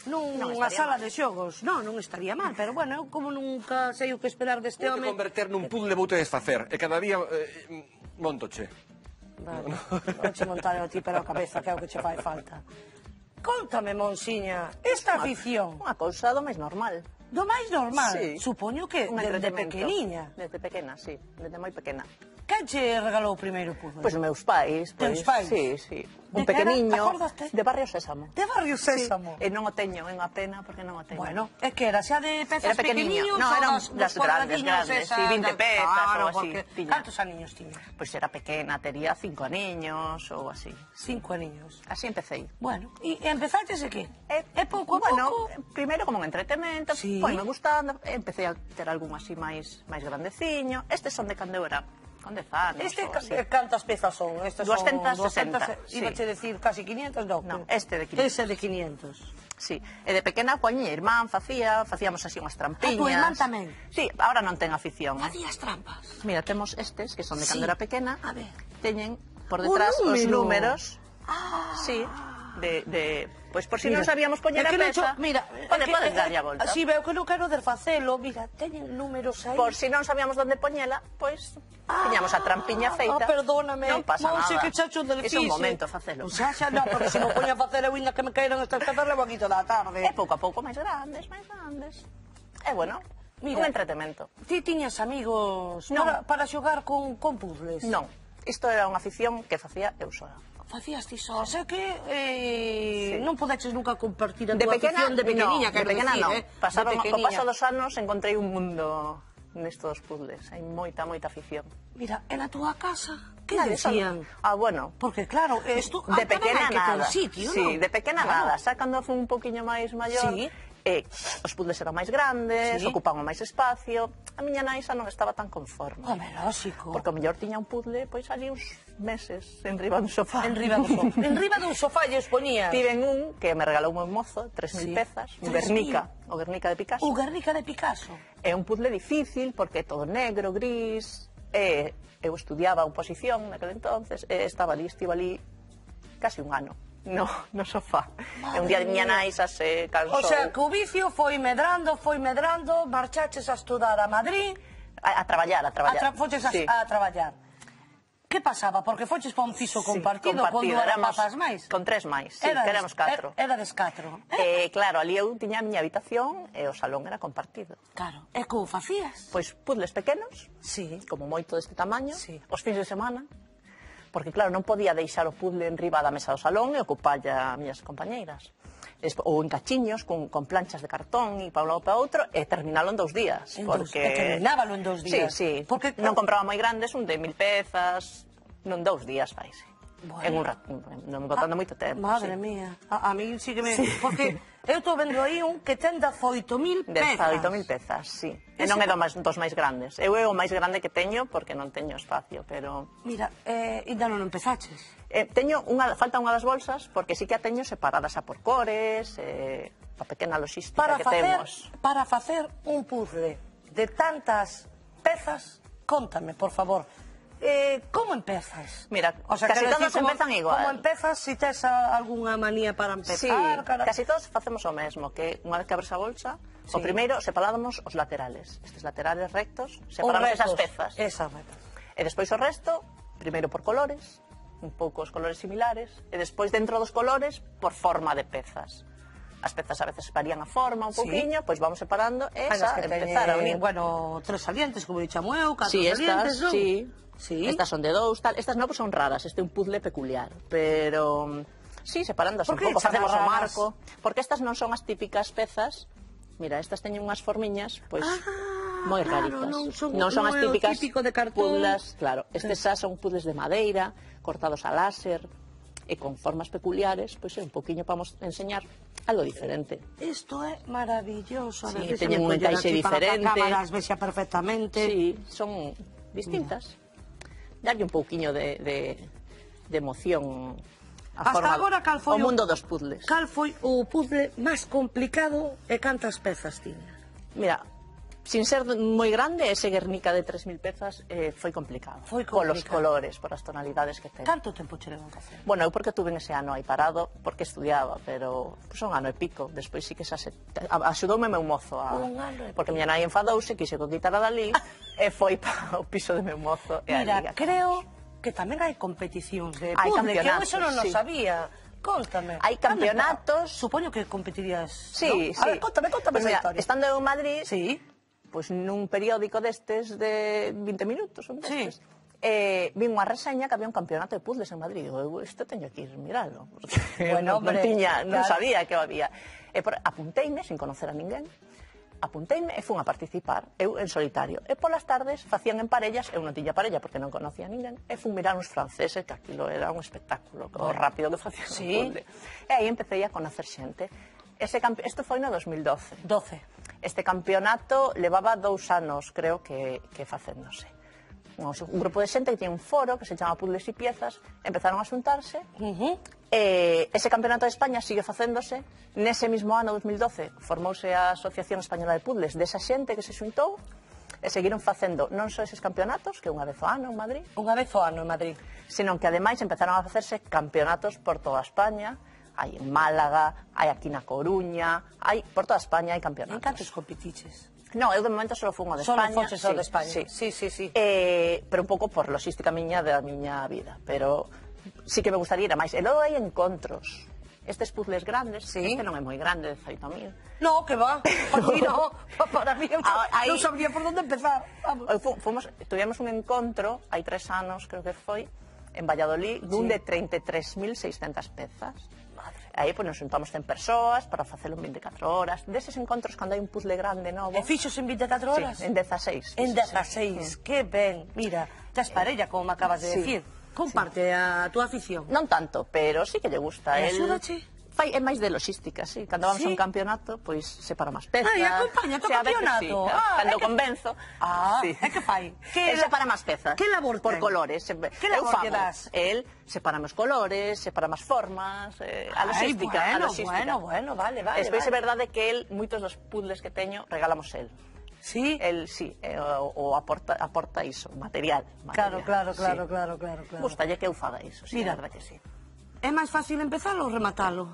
nunha sala de xogos. Non, non estaría mal, pero bueno, eu como nunca sei o que esperar deste Vou home... converter nun puzzle, vou te desfacer, e cada día montoche. Vale, vouche montar a ti pero a cabeza, que é o que che fai falta. Contame, Monsiña, esta afición... Unha cousa do máis normal. Do máis normal? Sí. Supoño que desde pequeniña. Desde pequena, sí, desde moi pequena. Quen che regalou o primeiro puzzle? Pois meus pais. Teus pais? Sí, sí. De Un que era? pequeniño, Acordaste? de Barrio Sésamo. De Barrio Sésamo? Sí. E non o teño, é unha pena, porque non o teño. Bueno, é que era xa de pezas Era pequeniño. pequeniños, No, eran os- das os grandes, cuadradiños grandes, esas sí, vinte da- pezas Claro, ou así. porque tiña. Cantos aniños tiña? Pois era pequena, tería cinco aniños ou así. Cinco aniños. Así empecé. Bueno, e empezaches e que? É, é pouco a bueno, pouco? primeiro como un entretemento, Sí. foi me gustando, empecé a ter algún así máis máis grandeciño. Estes son de cando eu era con dez anos. Este, ou ca- así. eh, cantas pezas son? Estes doscientas son sesenta, sí. Ibache decir casi quinientos, non. No, este de quinientos. Ese de quinientos. Sí, e de pequena poñía irmán, facía, facíamos así unhas trampiñas. A tu irmán tamén? Sí, ahora non ten afición. Facías trampas? Mira, temos estes, que son de Sí. cando era pequena. A ver. Teñen por detrás Un os número. números. Ah. Sí, de... de Pois por si Mira, non sabíamos poñer é a que non peza, cho- mira, pode, é que- podes é- darlle a volta. Si veo que non quero desfacelo, mira, teñen números aí. Por si non sabíamos onde poñela, pois tiñamos a trampiña feita. Ah, perdóname, Non pasa Monse, nada. que chacho del É un momento facelo. Xa, xa, non, porque se me poña a facer eu inda que me caeron estas pezas levo aquí toda a tarde. E pouco a pouco máis grandes, máis grandes. E bueno, Mira, un entretemento. Ti tiñas amigos Non. para, para xogar con, con puzzles? Non, isto era unha afición que facía eu sola. Facías ti só, o sea que eh, Sí. non podeches nunca compartir a De tua pequena, afición de pequeniña, no, de quero pequena decir, non. eh? Pasaba, de co pequeniña. paso dos anos encontrei un mundo nestos puzzles. Hai moita, moita afición. Mira, en a túa casa, que Nada, decían? Ah, bueno, Porque claro, esto de pequena nada. Sitio, sí, non? de pequena Claro. nada. Xa cando fui un poquinho máis maior, Sí. eh, os puzzles eran máis grandes, Sí. ocupaban máis espacio. A miña nai xa non estaba tan conforme. Home, lógico. Porque o mellor tiña un puzzle, pois ali uns meses enriba do sofá. Enriba do sofá. Enriba dun sofá lle os poñía. Tiven un que me regalou un mozo, tres mil Sí. pezas, un tres mil. Guernica, o Guernica de Picasso. O Guernica de Picasso. É un puzzle difícil porque é todo negro, gris, e eu estudiaba oposición naquele entonces, e estaba ali, estive ali casi un ano no, no sofá. E un día de miña nai xa se cansou. O sea, que o vicio foi medrando, foi medrando, marchaches a estudar a Madrid, a, a traballar, a a traballar. tra foches a, Sí. a traballar. Que pasaba? Porque foches para un piso Sí, compartido, con dúas éramos rapazas máis. con tres máis, sí, Erades- que éramos catro. er- Erades catro. E claro, ali eu tiña a miña habitación e o salón era compartido. Claro. E como facías? Pois puzzles pequenos, Sí. como moito deste tamaño, Sí. os fins de semana, porque claro, non podía deixar o puzzle en riba da mesa do salón e ocupalla a miñas compañeiras. Es- ou en cachiños, con, con planchas de cartón e para un lado para outro, e terminalo en dous días. En dous- porque... e terminábalo en dous días. Sí, sí. Porque- non compraba moi grandes, un de mil pezas, non dous días faise. Bueno. En un rato, non me botando moito tempo. Madre sí. mía. A, a mí sí que me... Porque eu estou vendo aí un que ten dezaoito mil pezas. dezaoito mil pezas, sí. E Ese- non é do máis, dos máis grandes. Eu é o máis grande que teño porque non teño espacio, pero... Mira, eh, ainda non empezaches. Eh, teño unha, falta unha das bolsas porque sí que a teño separadas a por cores, eh, a pequena logística Para que facer, temos. para facer un puzzle de tantas pezas, contame, por favor. Eh, como empezas? Mira, O sea, casi quero todos decir, como- empezan igual. Como empezas, si tes a- algunha manía para Sí, empezar? cara- casi todos facemos o mesmo, que unha vez que abres a bolsa, Sí. o primeiro separamos os laterales. Estes laterales rectos, Os separamos retos, esas pezas. Esas retas. E despois o resto, primeiro por colores, un pouco os colores similares, e despois dentro dos colores, por forma de pezas. As pezas a veces varían a forma un Sí. pouquiño, pois vamos separando e Ai, esa las que empezar a teñen, unir. bueno, tres salientes, como dichamo eu, catro Sí, salientes, estas, non? sí. Sí. Estas son de dous, tal. Estas non, pues son raras, este é un puzzle peculiar, pero sí, separándolas Por un que pouco, chamas facemos o raras? marco, porque estas non son as típicas pezas. Mira, estas teñen unhas formiñas, pois Ah, moi claro, raritas. non son- non son non as é o típicas típico de cartón. puzzles, claro. Estes xa son puzzles de madeira, cortados a láser. e con formas peculiares, pois é un poquinho para enseñar algo diferente. Isto é maravilloso. Sí, teñen un encaixe diferente. Para que a cámara as vexa perfectamente. Sí, son distintas. Darlle un pouquiño de, de, de emoción a Hasta forma, agora, cal foi o mundo dos puzzles. Cal foi o puzzle máis complicado e cantas pezas tiña? Mira, sin ser moi grande, ese Guernica de tres mil pezas eh, foi complicado. Foi complicado. Polos complicado. colores, por as tonalidades que ten. Canto tempo che levou a facer? Bueno, eu porque tuve ese ano aí parado, porque estudiaba, pero pues, un ano e pico. Despois sí que xa se... Axudoume meu mozo a... Un ano e porque miña nai enfadouse, quixo que quitara dali, e foi para o piso de meu mozo. E Mira, ali, creo que tamén hai competicións de Hai puzzle, que eu campeonatos, eso non o sí. sabía. Contame. Hai campeonatos. Supoño que competirías, Sí, ¿no? sí. A ver, contame, contame Pues esa mira, historia. estando eu en Madrid, Sí. pues nun periódico destes de vinte minutos, un destes, Sí. eh, vi unha reseña que había un campeonato de puzzles en Madrid. Eu, isto teño que ir miralo, porque Bueno, non, non, hombre, tiña, non claro. sabía que había. E por, apunteime, sin conocer a ninguén, apunteime e fun a participar, eu en solitario. E polas tardes facían en parellas, eu non tiña parella porque non conocía a ninguén, e fun mirar uns franceses, que aquilo era un espectáculo, o rápido que facían Sí. un puzzle. E aí empecé a conocer xente. Ese campe... Isto foi no dos mil doce. doce. Este campeonato levaba dous anos, creo, que, que facéndose. Un, un grupo de xente que tiña un foro que se chama Puzzles y Piezas, empezaron a xuntarse, Uh -huh. e ese campeonato de España sigue facéndose. Nese mismo ano, dos mil doce, formouse a Asociación Española de Puzzles desa xente que se xuntou, e seguiron facendo non só eses campeonatos, que unha vez ao ano en Madrid, Unha vez ao ano en Madrid. senón que ademais empezaron a facerse campeonatos por toda España. Hai en Málaga, hai aquí na Coruña, hai por toda España hai En campeonatos. cantos competiches? No, eu de momento só fun o de Solo España. foches ao sí, de España. Sí, Sí, sí, sí. Eh, pero un pouco por logística miña da miña vida, pero sí que me gustaría ir a máis. E logo hai encontros. Estes puzzles grandes, Sí. este non é moi grande, dezaoito mil. No, que va. Aquí no. Para mí, eu Ah, aí- non sabría por onde empezar. Vamos. Eu fu- Fomos, tuvimos un encontro, hai tres anos, creo que foi, en Valladolid, dun Sí. de treinta e tres mil seiscentas pezas. Aí pues, nos juntamos cen persoas para facelo en vinte e catro horas. Deses encontros, cando hai un puzzle grande novo... E fixos en vinte e catro horas? Sí, en dezaseis. En dezaseis, que ben. Mira, tes parella, como me acabas de Sí. decir. Comparte a túa afición. Non tanto, pero sí que lle gusta. E El- axúdache? Fai, é máis de logística, sí. Cando vamos Sí? a un campeonato, pois separa máis pezas. Ai, acompaña o Sí, a veces campeonato. Sí. Ah, Cando é que- convenzo. Ah, sí. é que fai? Que El la- separa máis pezas. que labor Por ten? colores. Se- Que eu labor lle fago. das? El separa máis colores, separa máis formas, eh, a Ai, logística, a bueno, logística. bueno, bueno, vale, vale, Despois vale. é verdade que el, moitos dos puzzles que teño, regalamos el. Sí? El, sí, eh, o, o aporta, aporta iso, material. Claro, material, claro, sí. claro, claro, claro, claro. Gustalle que eu faga iso, sí, Mira. a verdade que sí. É máis fácil empezalo ou rematalo?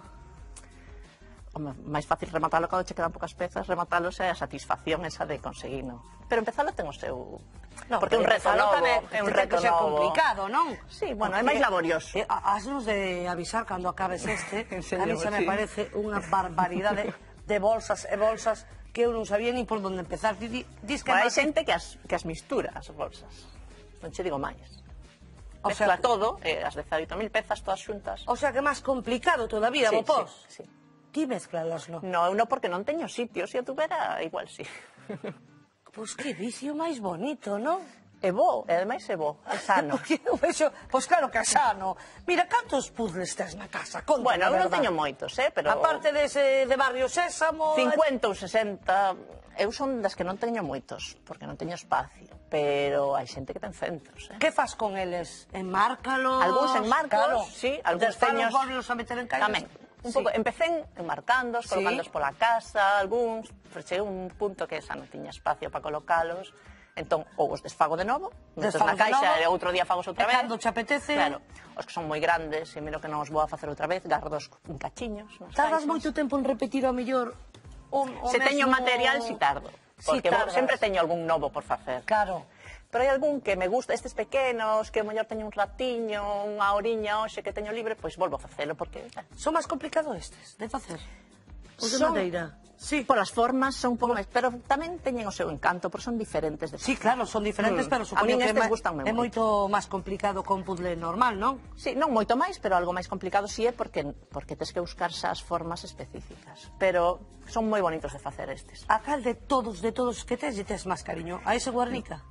Home, máis fácil rematalo cando che quedan poucas pezas, rematalo é a satisfacción esa de conseguino. Pero empezalo ten o seu... No, porque é un pero reto empezalo novo, tamén é un ten reto que ser novo. complicado, non? Sí, bueno, é Porque, máis laborioso. Eh, ha- hasnos de avisar cando acabes este. En A serio, mí xa me sí. parece unha barbaridade de bolsas e bolsas que eu non sabía ni por onde empezar. Di, di, dis que Bueno, hai máis- xente que as, que as mistura as bolsas. Non che digo máis. O sea, Mezcla todo, eh, as dezaoito mil pezas todas xuntas. O sea que é máis complicado todavía, Sí, vos pos. sí, sí. Ti mezclalas, non? No, eu non porque non teño sitio, se eu tuvera, igual sí. Pois que vicio máis bonito, non? É bo, e ademais é bo, é sano. Porque eu vexo, pois claro que é sano. Mira, cantos puzzles tes na casa? Conta, Bueno, a eu non verdad. teño moitos, eh, pero... Aparte dese de Barrio Sésamo... cincuenta ou sesenta, eu son das que non teño moitos, porque non teño espacio, pero hai xente que ten centros, eh. Que fas con eles? Enmárcalos? Algúns enmarcos, claro. sí, algúns teños... teños... Volvelos a meter en calles? Tamén, un Sí. pouco, empecé enmarcándos, Sí. colocándoos pola casa, algúns, pero cheguei a un punto que xa non tiña espacio para colocalos, entón, ou os desfago de novo, metos Desfagos na de caixa novo, e outro día fagos outra e vez. cando che apetece- Claro, os que son moi grandes, e miro que non os vou a facer outra vez, gardos en cachiños. nas Tardas caixas. moito tempo en repetir ao mellor o, o Se teño mesmo- material, si tardo. Si Porque tardas. sempre teño algún novo por facer. Claro. Pero hai algún que me gusta, estes pequenos, que o mellor teño un ratiño, unha horiña hoxe que teño libre, pois volvo a facelo, porque... Son máis complicado estes de facer? Os de Son- madeira? Sí. Por as formas son un pouco máis, pero tamén teñen o seu encanto, porque son diferentes de Sí, facer. claro, son diferentes, Mm. pero A supoño min que é, estes ma- gustanme é moito. moito máis complicado con puzzle normal, non? Sí, non moito máis, pero algo máis complicado si é porque porque tes que buscar xa as formas específicas. Pero son moi bonitos de facer estes. A cal de todos, de todos que tes, e tes máis cariño? A ese Guernica?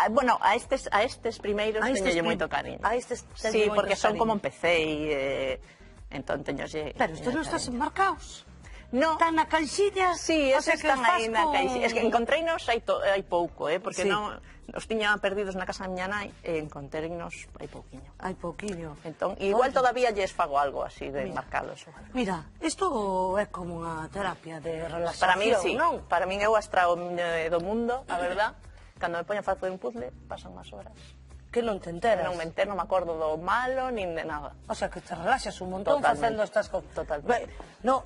Bueno, a estes, a estes primeiros A estes teñolle prim- moito cariño. a estes teño Sí, moito porque son cariño. como empecé e... Eh, entón teñolle... Pero estes non estás enmarcados. No. Están na caixilla? Sí, O eses sea, que están os fas aí na con- caixilla. Es que encontreinos hai, to, hai pouco, eh, porque Sí. non os tiña perdidos na casa da miña nai e encontreinos hai pouquiño. Hai pouquiño. Entón, igual Oye. todavía lles fago algo así de marcalos. Mira, isto é como unha terapia de relaxación, Para mí sí, non? para min eu astrao do mundo, a verdad. Cando me poño a facer un puzzle, pasan máis horas. Que non te enteras. Non me entero, non me acordo do malo, nin de nada. O sea, que te relaxas un montón Totalmente. facendo estas cosas. Totalmente. No,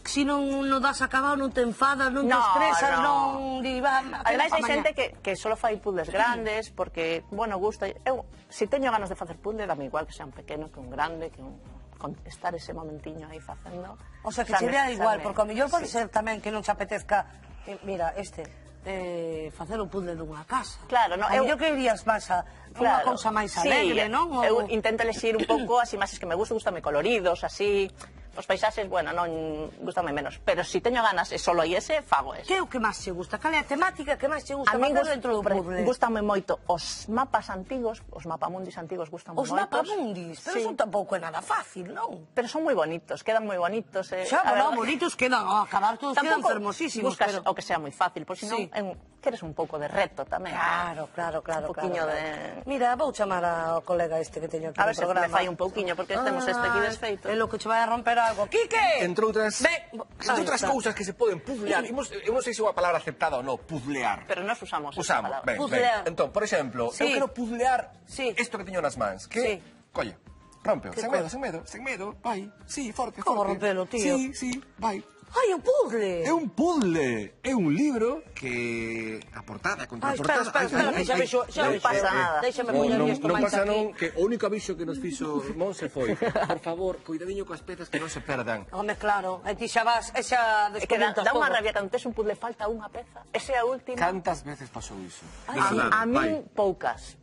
si non, non das acabado, non te enfadas, non te No, estresas, no. non... Di, va, Ademais, hai pa xente mañá. que, que solo fai puzzles grandes porque, bueno, gusta. Eu, se teño ganas de facer puzzle, dame igual que sea un pequeno que un grande, que un, con estar ese momentiño aí facendo. O sea, que Xa che me- dá xa igual, me- porque ao mellor pode sí. ser tamén que non te apetezca... eh, Mira, este... Eh, facer un puzzle dunha casa. Claro, no, Ao eu- mellor que irías máis a unha cousa máis alegre, sí, non? O- Eu intento elexir un pouco as imaxes que me gustan, gustame coloridos, así. Os paisaxes, bueno, non gustame menos, pero se si teño ganas e solo hai ese, fago ese. Que é o que máis che gusta? Cal é a temática que máis che gusta A min facer dentro do gust- puzzle? gustame moito os mapas antigos, os mapamundis antigos gustan Os moitos. mapamundis, pero Sí. eso tampouco é nada fácil, non? Pero son moi bonitos, quedan moi bonitos. Eh. Xa, A bueno, verdade- bonitos quedan, ao acabar todos quedan Tampouco fermosísimos, buscas pero... o que sea moi fácil, por si non Sí. é un, queres un pouco de reto tamén. Claro, claro, claro. Un poquiño claro, de- claro. Mira, vou chamar ao colega este que teño aquí A no ver se programa. me fai un pouquiño, porque temos este aquí desfeito. É lo que che vai a romper algo. Quique! Entre outras, Ve- entre Ahí outras está. cousas que se poden puzzlear. Imos, eu non sei se é unha palabra aceptada ou non, puzzlear. Pero nós usamos esa Usamos, palabra. ben, Puzzlear. ben. Entón, por exemplo, Sí. eu quero puzzlear Sí. isto que teño nas mans. Que, Sí. colle, rompeo, Que sen cosa? medo, sen medo, sen medo, vai. Sí, forte, Como forte. rompelo, tío? Sí, sí, vai. Ai, un puzzle! É un puzzle, é un libro que a portada, a Ai, contraportada... espera, espera, espera, ai, que xa ai, vexo, xa ai, vexo. pasa nada. Déixame Non, poñer non, isto non máis pasa aquí. non, que o único aviso que nos fixo Monse foi por favor, cuidadiño coas pezas que non se perdan. Home, claro, e ti xa vas, e xa É que dá, desconectas dá unha todo. rabia cando tes un puzzle falta unha peza. Esa é a última. Cantas veces pasou iso? De A, verdade, a vai. min poucas.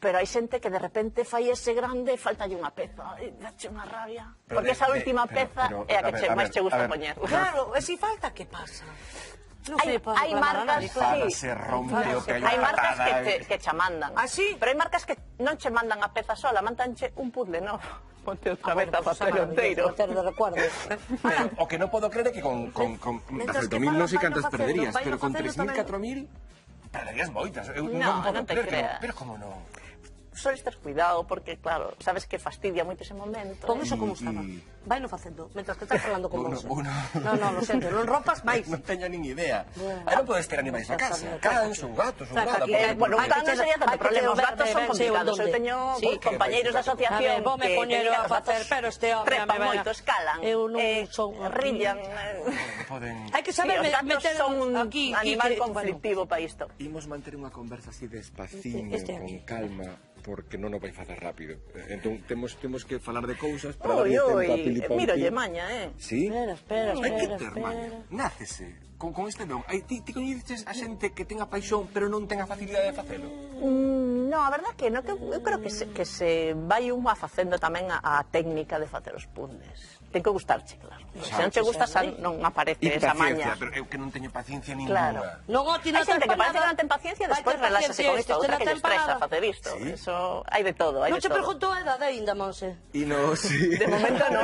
Pero hai xente que de repente fai ese grande e faltalle unha peza. E dache unha rabia. Pero Porque de- esa de- última pero- peza pero, é a a que ver, che, a máis ver, che gusta a ver. poñer. Claro, e si falta, que pasa? Non Hai, sei, para hai reclamar a marcas, nadie, claro. sí. Se rompe o que hai Hai na marcas que patada, te, eh. que che mandan. Ah, sí? Pero hai marcas que non che mandan a peza sola, mandanche un puzzle, no. Ponte outra Ah, vez bueno, a pues papel esa enteiro. maravilla, de recuerdo. Pero o que non podo creer é que con, con, con Mientras oito que mil non sei falan, cantas vaino perderías, facendo, pero con vaino tres mil, facendo catro mil perderías moitas. Eu No, non podo non te creer que creas. non. Pero como non? Soles ter cuidado, porque, claro, sabes que fastidia moito ese momento. Pon eh. eso como Y- estaba. y- Vai no facendo, mentras que estás falando con Bueno, vos. bueno. No, no, lo siento, non rompas máis. Non teño nin idea. Bueno. Aí non podes ter animais na Xa casa. sabía, Cans, saca ou gatos, ou Saca nada. aquí, por- eh, Bueno, un Hai can que non che- sería hai tanto que problema, os che- gatos ver, son ver, sei complicados. Eu onde. teño Sí. compañeiros da asociación A ver, vome que poñer que a digan, os facer, gatos pero este home, trepan a ver, moito, escalan, eu non eh, son rillan. eh. Non poden... Hai que saber Sí, os me- gatos meter son un aquí, animal Quique, conflictivo para isto. Imos manter unha conversa así despaciño, Este- este con aquí. calma, porque non o vai facer rápido. Eh, Entón, temos, temos que falar de cousas para Ui, darlle tempo a ui, Pili Pompi. mírolle maña, eh. Sí? Espera, espera, Hai que espera, ter espera. maña. Nácese con, con este don. Hai, ti, ti coñeces a xente que tenga paixón pero non tenga facilidade de facelo? Mm, no, a verdad que no, que eu creo que se, que se vai unha facendo tamén a, a técnica de facer os puzzles. Ten que gustarche, claro. Se non che gusta, xa non aparece E esa paciencia, maña. pero eu que non teño paciencia Claro. ninguna. Non, o ti Hai non xente ten que pa parece que nada. non ten paciencia, Vai despois ter reláxase paciencia con este, isto, outra este que non lle ten pa estresa nada. facer isto. Sí. Eso hai de todo, hai Non de che todo. preguntou a edade aínda, Monse. E no, sí. De momento no.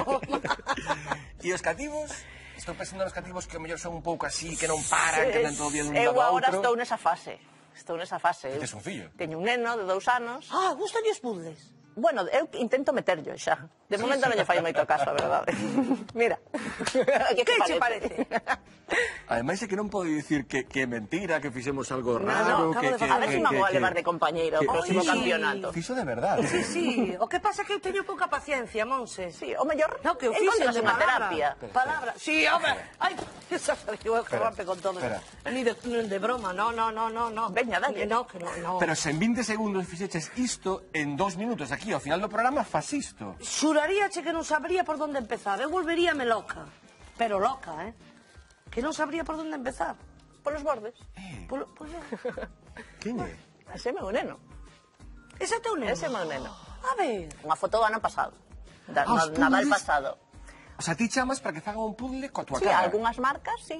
E os cativos? Estou pensando nos cativos que ao mellor son un pouco así, que non paran, que andan todo o día dun Eu lado a agora outro. estou nesa fase. Estou nesa fase. Tes un fillo? Teño un neno de dous anos. Ah, gustan os puzzles. Bueno, eu intento meterlo xa. De momento non lle fai moito caso, a verdade. Mira. Que Que che parece? Ademais é que non podo dicir que, que é mentira, que fixemos algo No, raro, no, acabo que, de que, A ver se que, me vou a que- levar de compañeiro ao que- próximo Ai. campeonato. Fixo de verdade. Sí, sí. O que pasa é que eu teño pouca paciencia, Monse. Sí, o mellor No, que o encontras fixen de unha palabra. terapia. Palabra. Sí, home. Ai, esa salió el Espera, rompe con todo. espera. Ni de, ni de broma, no, no, no, no, no. Veña, dalle. Que no, que no, no. Pero se en vinte segundos fixeches isto, en dos minutos aquí, ao final do programa, fas isto. Xuraríache que non sabría por onde empezar. Eu volveríame loca. Pero loca, eh? Que non sabría por onde empezar. Polos bordes. Polo, polo... Quién é? Ese é meu neno. Ese é teu neno? Ese é meu neno. A ver. Unha foto do ano pasado. Da, Ah, os no, Nadal puzzles? pasado. O sea, ti chamas para que fagan un puzzle coa tua Sí, cara. algunhas marcas, sí.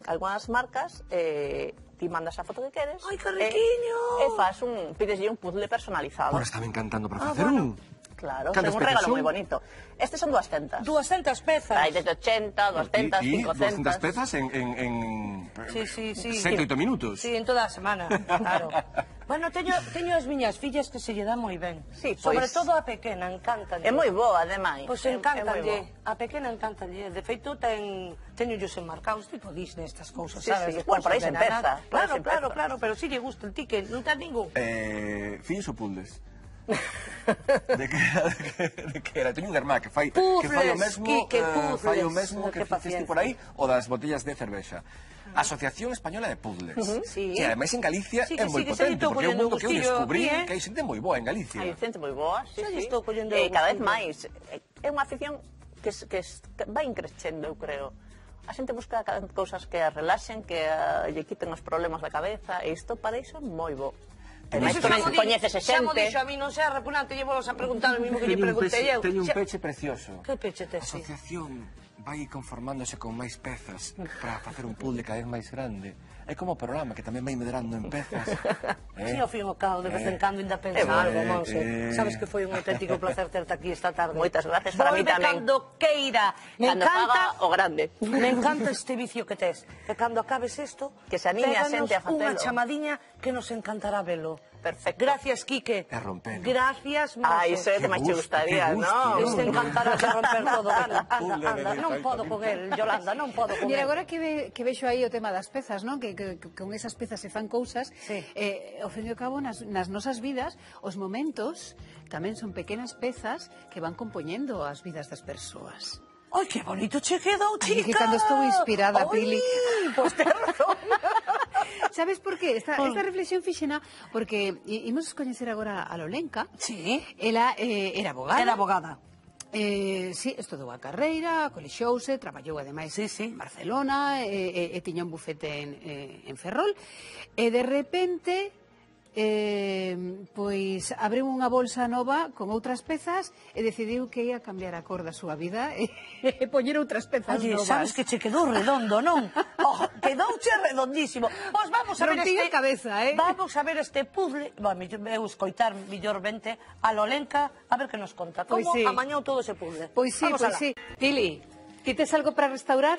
Algunhas marcas eh, ti mandas a foto que queres. Ai, que riquiño! E, e fas un, pideslle un puzzle personalizado. Ahora estame encantando para Ah, facer bueno. un. Claro, é Cantas un pezas regalo son? moi bonito. Estes son duascentas. duascentas pezas. Hai desde ochenta, duascentas, Y cincocentas. doscientas pezas en, en, en Sí, sí, sí. sete, oito minutos. Sí, en toda a semana, claro. Bueno, teño, teño as miñas fillas que se lle dá moi ben. Sí, Sobre pois- todo a pequena, encántalle. É moi boa, ademais. Pois É- é moi encántalle. boa. A pequena encántalle. De feito, ten, teño yo enmarcados, tipo Disney, estas cousas, Sí, sabes? sí. Despois Bueno, por aí se ordenan. empeza, por aí Claro, se claro, empeza. claro, pero si lle gusta el ticket, non ten ningún. Eh, fillos ou puzzles? de que era, de que, de que era? Teño un irmá que fai, que fai o Puzzles, mesmo, Quique, eh, fai o puzzles. mesmo que Que faciste paciencia. por aí, o das botellas de cervexa. Asociación Española de Puzzles. Sí. Que ademais en Galicia Sí, é que moi sí, que se lle potente, estou porque é un collendo mundo que eu gustillo descubrí aquí, eh. que hai xente moi boa en Galicia. Hai xente moi boa, sí, Xa lle sí. estou collendo E cada vez gustillo. máis. É unha afición que, es- que, es- que vai increchendo, eu creo. A xente busca cada- cousas que a relaxen, que a, lle quiten os problemas da cabeza, e isto para iso é moi bo. E máis Iso xa mo di- coñecese xa mo xente. dixo a mí, non sea repugnante, lle vos a preguntar o mismo que lle Teño un preguntei peche, eu. teño un Xa- peche precioso. Que peche tes? A asociación vai conformándose con máis pezas para facer un puzzle cada vez máis grande. É como o programa que tamén vai medrando en pezas. Sí, ao fin e ao cabo, de vez en cando ainda pensa Eh, algo, eh, Monse. eh. Sabes que foi un auténtico placer terte aquí esta tarde. Moitas gracias para mí Volve tamén. cando queira. Me Cando encanta, faga o grande. me encanta este vicio que tes. Que cando acabes isto, Que se anime a péganos xente a facelo. unha chamadiña que nos encantará velo. Perfecto. Gracias, Quique. E rompelo. Gracias, Monse. Ah, iso é que Que máis che gusto, gustaría, que gusto, non? Este encantará de romper todo. Anda, anda, Puzzle, anda. de Non feito, podo a mí. con el, Yolanda, non podo con Mira, el. agora que, ve, que vexo aí o tema das pezas, non? Que, que, que con esas pezas se fan cousas, Sí. eh, ao fin e ao cabo, nas, nas nosas vidas, os momentos tamén son pequenas pezas que van compoñendo as vidas das persoas. Ai, que bonito che quedou, Ai, chica. que cando estou inspirada, Ai, Pili. Pois pues ten razón. Sabes por qué? Esta, esta reflexión fixena porque i- imos coñecer agora a Lolenka. Sí. Ela eh, era abogada. Era abogada. Eh, sí, estudou a carreira, colexouse, traballou ademais Sí, sí. en Barcelona, e, e, e tiña un bufete en, eh, en Ferrol, e de repente eh, pois abriu unha bolsa nova con outras pezas e decidiu que ia cambiar a cor da súa vida e, e poñer outras pezas Oye, novas. sabes que che quedou redondo, non? Oh, quedouche redondísimo. Pois vamos a ver Rompí este... a cabeza, eh? Vamos a ver este puzzle. Bueno, eu escoitar millormente a Lolenka, a ver que nos conta. Pois Como sí. amañou todo ese puzzle. Pois sí, Vamos pois alá. sí. Pili, ti tes algo para restaurar?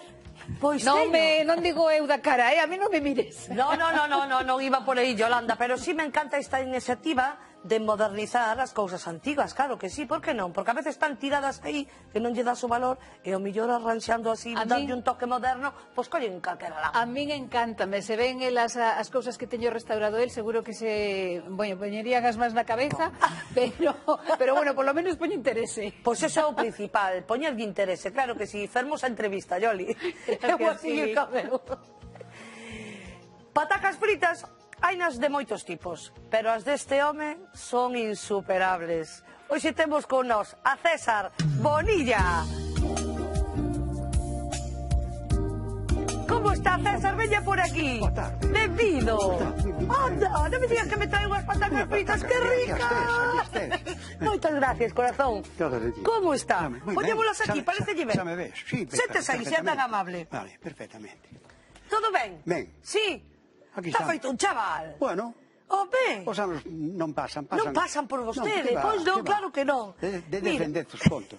Pois non, teño. me, non digo eu da cara, eh? A mí non me mires. No, no, no, no, no, non iba por aí, Yolanda, pero sí me encanta esta iniciativa de modernizar as cousas antigas, claro que sí, por que non? Porque a veces están tiradas aí que non lle das o valor e o mellor arranxando así, A darlle min- un toque moderno, pois collen calquera lá. A min encántame, se ven elas a- as cousas que teño restaurado el, seguro que se, bueno, poñerían as más na cabeza, pero, pero bueno, por lo menos poño interese. Pois iso é o principal, poñerlle interese, claro que sí, fermosa entrevista, Yoli. Eu Gracias, así Pili. cabeu. Patacas fritas hainas de moitos tipos, pero as deste home son insuperables. Hoxe temos con nós a César Bonilla. Como está, César? Veña por aquí. Boa tarde. Benvido. Boa tarde, benvido. Anda, non me digas que me traen unhas patacas fritas, que Aquí ricas. estés, aquí estés. Moitas gracias, corazón. Todo de ti. Como está? Muy bien. Poñémolas aquí, Xa- parece xa- ben. xa me ves, sí, Sentes aí, sea tan perfectamente. amable. Vale, perfectamente. Todo ben? Ben. Sí. Aquí Está estamos. feito un chaval. Bueno, Home. os anos non pasan, pasan. Non pasan por vostede, que va, pois non, que va. claro que non. De, de Mira. defendezos conto.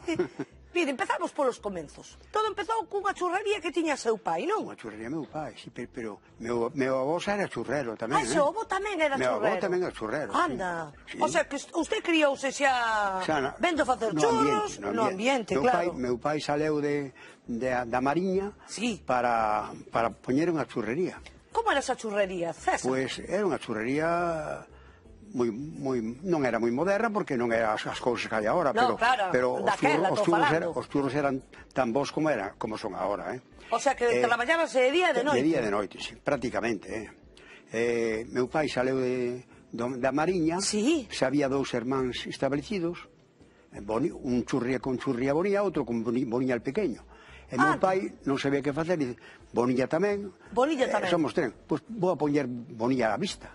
Mire, empezamos polos comenzos. Todo empezou cunha churrería que tiña seu pai, non? Unha churrería meu pai, sí, pero, pero meu, meu avó xa era churrero tamén, Ah, eh? seu avó tamén era Meu churrero. avó tamén era churrero, sí. Anda. Sí. O sea, que usted criouse xa, Xa na- vendo facer no churros ambiente, no ambiente, meu claro. Pai, meu pai saleu de, de, da Mariña Sí. para, para poñer unha churrería. Como era esa churrería, César? Pois era unha churrería moi, moi, non era moi moderna porque non era as, as cousas que hai agora, No, pero, claro, pero os, daquela, churros, os, tô churros falando. eran, os churros eran tan bons como era, como son agora, eh? O sea, que Eh, traballábase de día e de noite. De día e de noite, sí, prácticamente, eh? eh meu pai saleu de, do, da Mariña, Sí. se había dous irmáns establecidos, eh, Boni, un churría con churría Bonilla, outro con Boni, Bonilla el pequeño. E meu Ah. pai non sabía que facer, e dice, Bonilla tamén. Bonilla eh, tamén. Somos tres, pois pues, vou a poñer Bonilla á vista.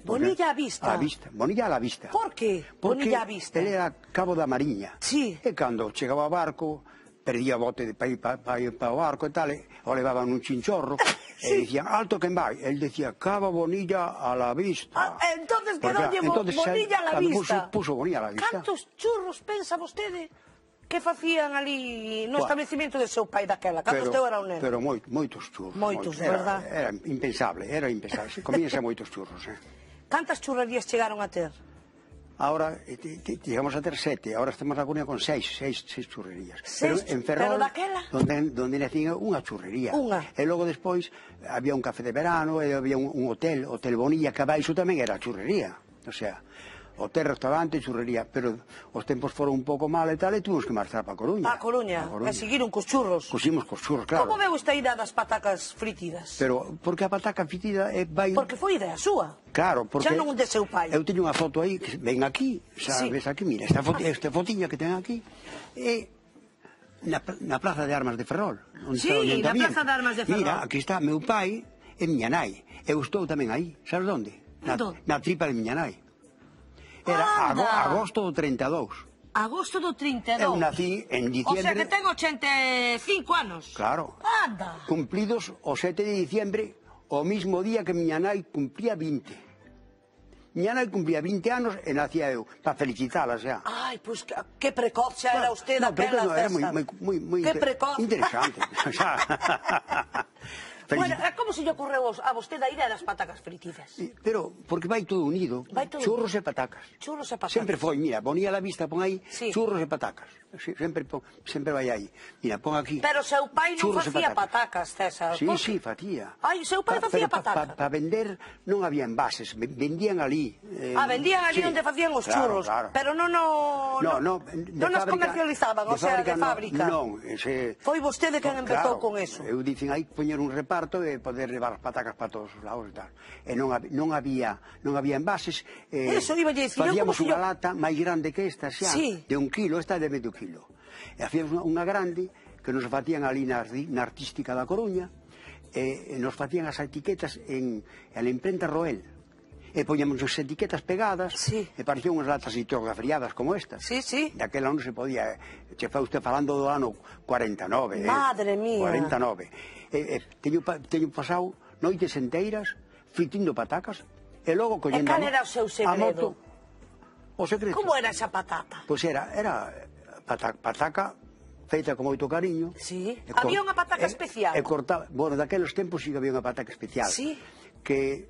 Bonilla á vista? Á vista, Bonilla á vista. Por que Porque Bonilla á vista? ele era cabo da Mariña. Sí. E cando chegaba o barco, perdía bote para ir para o barco e tal, o levaban un chinchorro, e dicían, alto quen vai? El decía, cava bonilla a la vista. Entonces quedoulle bonilla a la vista. Puso bonilla a la vista. Cantos churros pensa vostede que facían ali no establecimiento de seu pai daquela, cando esteu era un neno? Pero moitos churros. Moitos, de verdad. Era impensable, era impensable. Comíanse moitos churros, eh. Cantas churrerías chegaron a ter? Ahora llegamos a ter sete, ahora estamos na Coruña con seis, seis, seis churrerías. Seis, pero en Ferrol, pero daquela? donde, donde nacían unha churrería. Unha. E logo despois había un café de verano, e había un, un hotel, Hotel Bonilla, que abaixo tamén era churrería. O sea, hotel, restaurante, churrería, pero os tempos foron un pouco mal e tal, e tuvimos que marchar para a Coruña. A Coruña, e seguiron cos churros. Cuximos cos churros, claro. Como veu esta ida das patacas fritidas? Pero, porque a pataca fritida é vai... Porque foi idea súa. Claro, porque... Xa non de seu pai. Eu teño unha foto aí, que ven aquí, xa Sí. ves aquí, mira, esta, foto, esta fotiña que ten aquí, é na, na Plaza de Armas de Ferrol. Onde Sí, está o na Ayuntamiento. Plaza de Armas de Ferrol. Mira, aquí está meu pai e miña nai. Eu estou tamén aí, sabes onde? Na, Onde? na tripa de miña nai. Era ago, agosto do treinta e dous. Agosto do trinta e dous. Eu nací en O diciembre... sea que ten ochenta e cinco anos. Claro. Anda. Cumplidos o sete de diciembre, o mismo día que miña nai cumplía vinte. Miña nai cumplía vinte anos e nacía eu, para felicitala xa. Ai, pois pues, que precoz xa era usted no, daquela no, festa. era moi, moi, moi, moi Que inter... precoz. interesante. Xa. Bueno, como se lle ocorreu a vostede a idea das patacas fritidas? Pero, porque vai todo unido, vai todo churros e patacas. Churros e patacas. Sempre foi, mira, ponía la vista, pon aí, sí. Churros e patacas. Sempre, pon, sempre vai aí. Mira, pon aquí. Pero seu pai non facía patacas, César. Sí, sí, facía. Ai, seu pai pa, facía Para patacas. pa, pa vender non había envases, vendían ali. Eh, ah, vendían ali sí, onde facían os claro, churros, claro. pero non no, no, no, non nos comercializaban, o sea, de fábrica. Non, ese... Foi vostede quen empezou claro, con eso. Eu dicen aí poñer un reparto e poder levar as patacas para todos os lados e tal. E non, non había non había envases. Eh, eso iba a dicir. Facíamos unha yo... lata máis grande que esta xa, sí. de un kilo, esta de medio kilo. E hacíamos unha grande que nos facían ali na, na Artística da Coruña, e, e nos facían as etiquetas en, en la imprenta Roel. E poñamos as etiquetas pegadas, sí. e parecían unhas latas litografriadas como estas. Sí, sí. Daquela non se podía, che fa usted falando do ano cuarenta e nove. Madre eh, mía. cuarenta e nove. E, e, teño, teño pasado noites enteiras fritindo patacas e logo collendo... E cal era o seu segredo? O secreto. Como era esa patata? Pois era, era pataca, pataca feita con moito cariño. Sí. Había unha pataca especial? E cortaba, bueno, daqueles tempos sí que había unha pataca especial. Sí. Que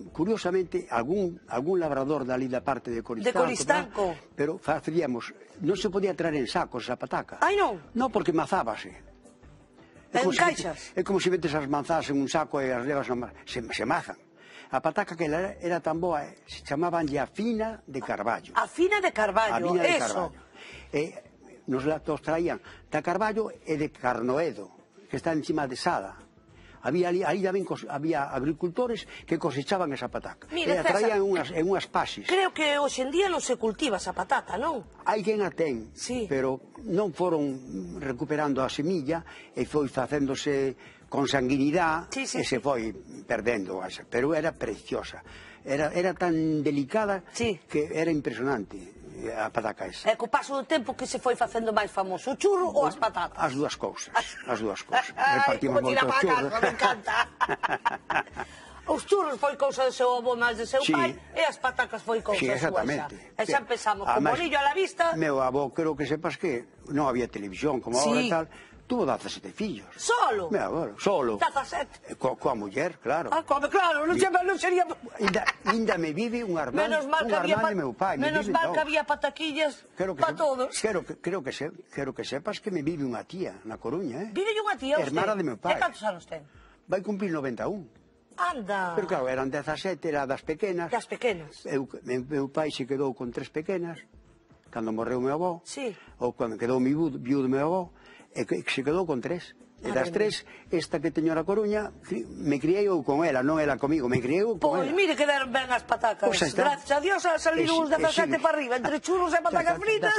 curiosamente algún algún labrador dali da parte de Coristanco, de Coristanco. ¿verdad? Pero facíamos, non se podía traer en sacos esa pataca. Ai non. Non, porque mazábase. É en caixas? É como se metes as manzás en un saco e as levas na, se, se mazan. A pataca que era, era tan boa, se chamaban a fina de Carballo. A fina de Carballo, a fina de eso. Carballo. E nos la traían da Carballo e de Carnoedo, que está encima de Sada. Había ali, ali tamén cos, había agricultores que cosechaban esa pataca. Mira, e a traían en unhas, en unhas paxis. Creo que hoxe en día non se cultiva esa patata, non? Hai quen a ten, sí. pero non foron recuperando a semilla e foi facéndose con sanguinidade sí, sí, e se sí. foi perdendo. Pero era preciosa. Era, era tan delicada sí. que era impresionante a pataca esa. E co paso do tempo que se foi facendo máis famoso, o churro ou as patatas? As dúas cousas, as dúas cousas. Ai, repartimos como tira moitos para churros. casa, me encanta. Os churros foi cousa do seu avó máis de seu sí. pai e as patacas foi cousa sí, súa xa. E xa empezamos con bolillo a la vista. Meu avó, creo que sepas que non había televisión como sí. ahora e tal. Tuvo dezasete fillos. Solo? Meu avó, solo. dezasete? Co, coa muller, claro. Ah, come, claro, non, non sería... Inda, inda me vive un hermano, menos mal un que había hermano de meu pai. Menos mal que había pataquillas para todos. Quero que, creo, que se, quero que sepas que me vive unha tía na Coruña, eh? Vive unha tía usted? Hermana de meu pai. E cantos anos ten? Vai cumplir noventa e un. Anda. Pero claro, eran dezasete, era das pequenas. Das pequenas. Eu, meu, meu pai se quedou con tres pequenas, cando morreu meu avó. Sí. Ou cando quedou mi viudo meu avó, e que se quedou con tres. E das tres, esta que teño na Coruña, me criei eu con ela, non ela comigo, me criei eu con pois, ela. Pois, mire que deron ben as patacas. Pues gracias a Dios a salir uns dezasete para arriba, entre churros e patacas fritas.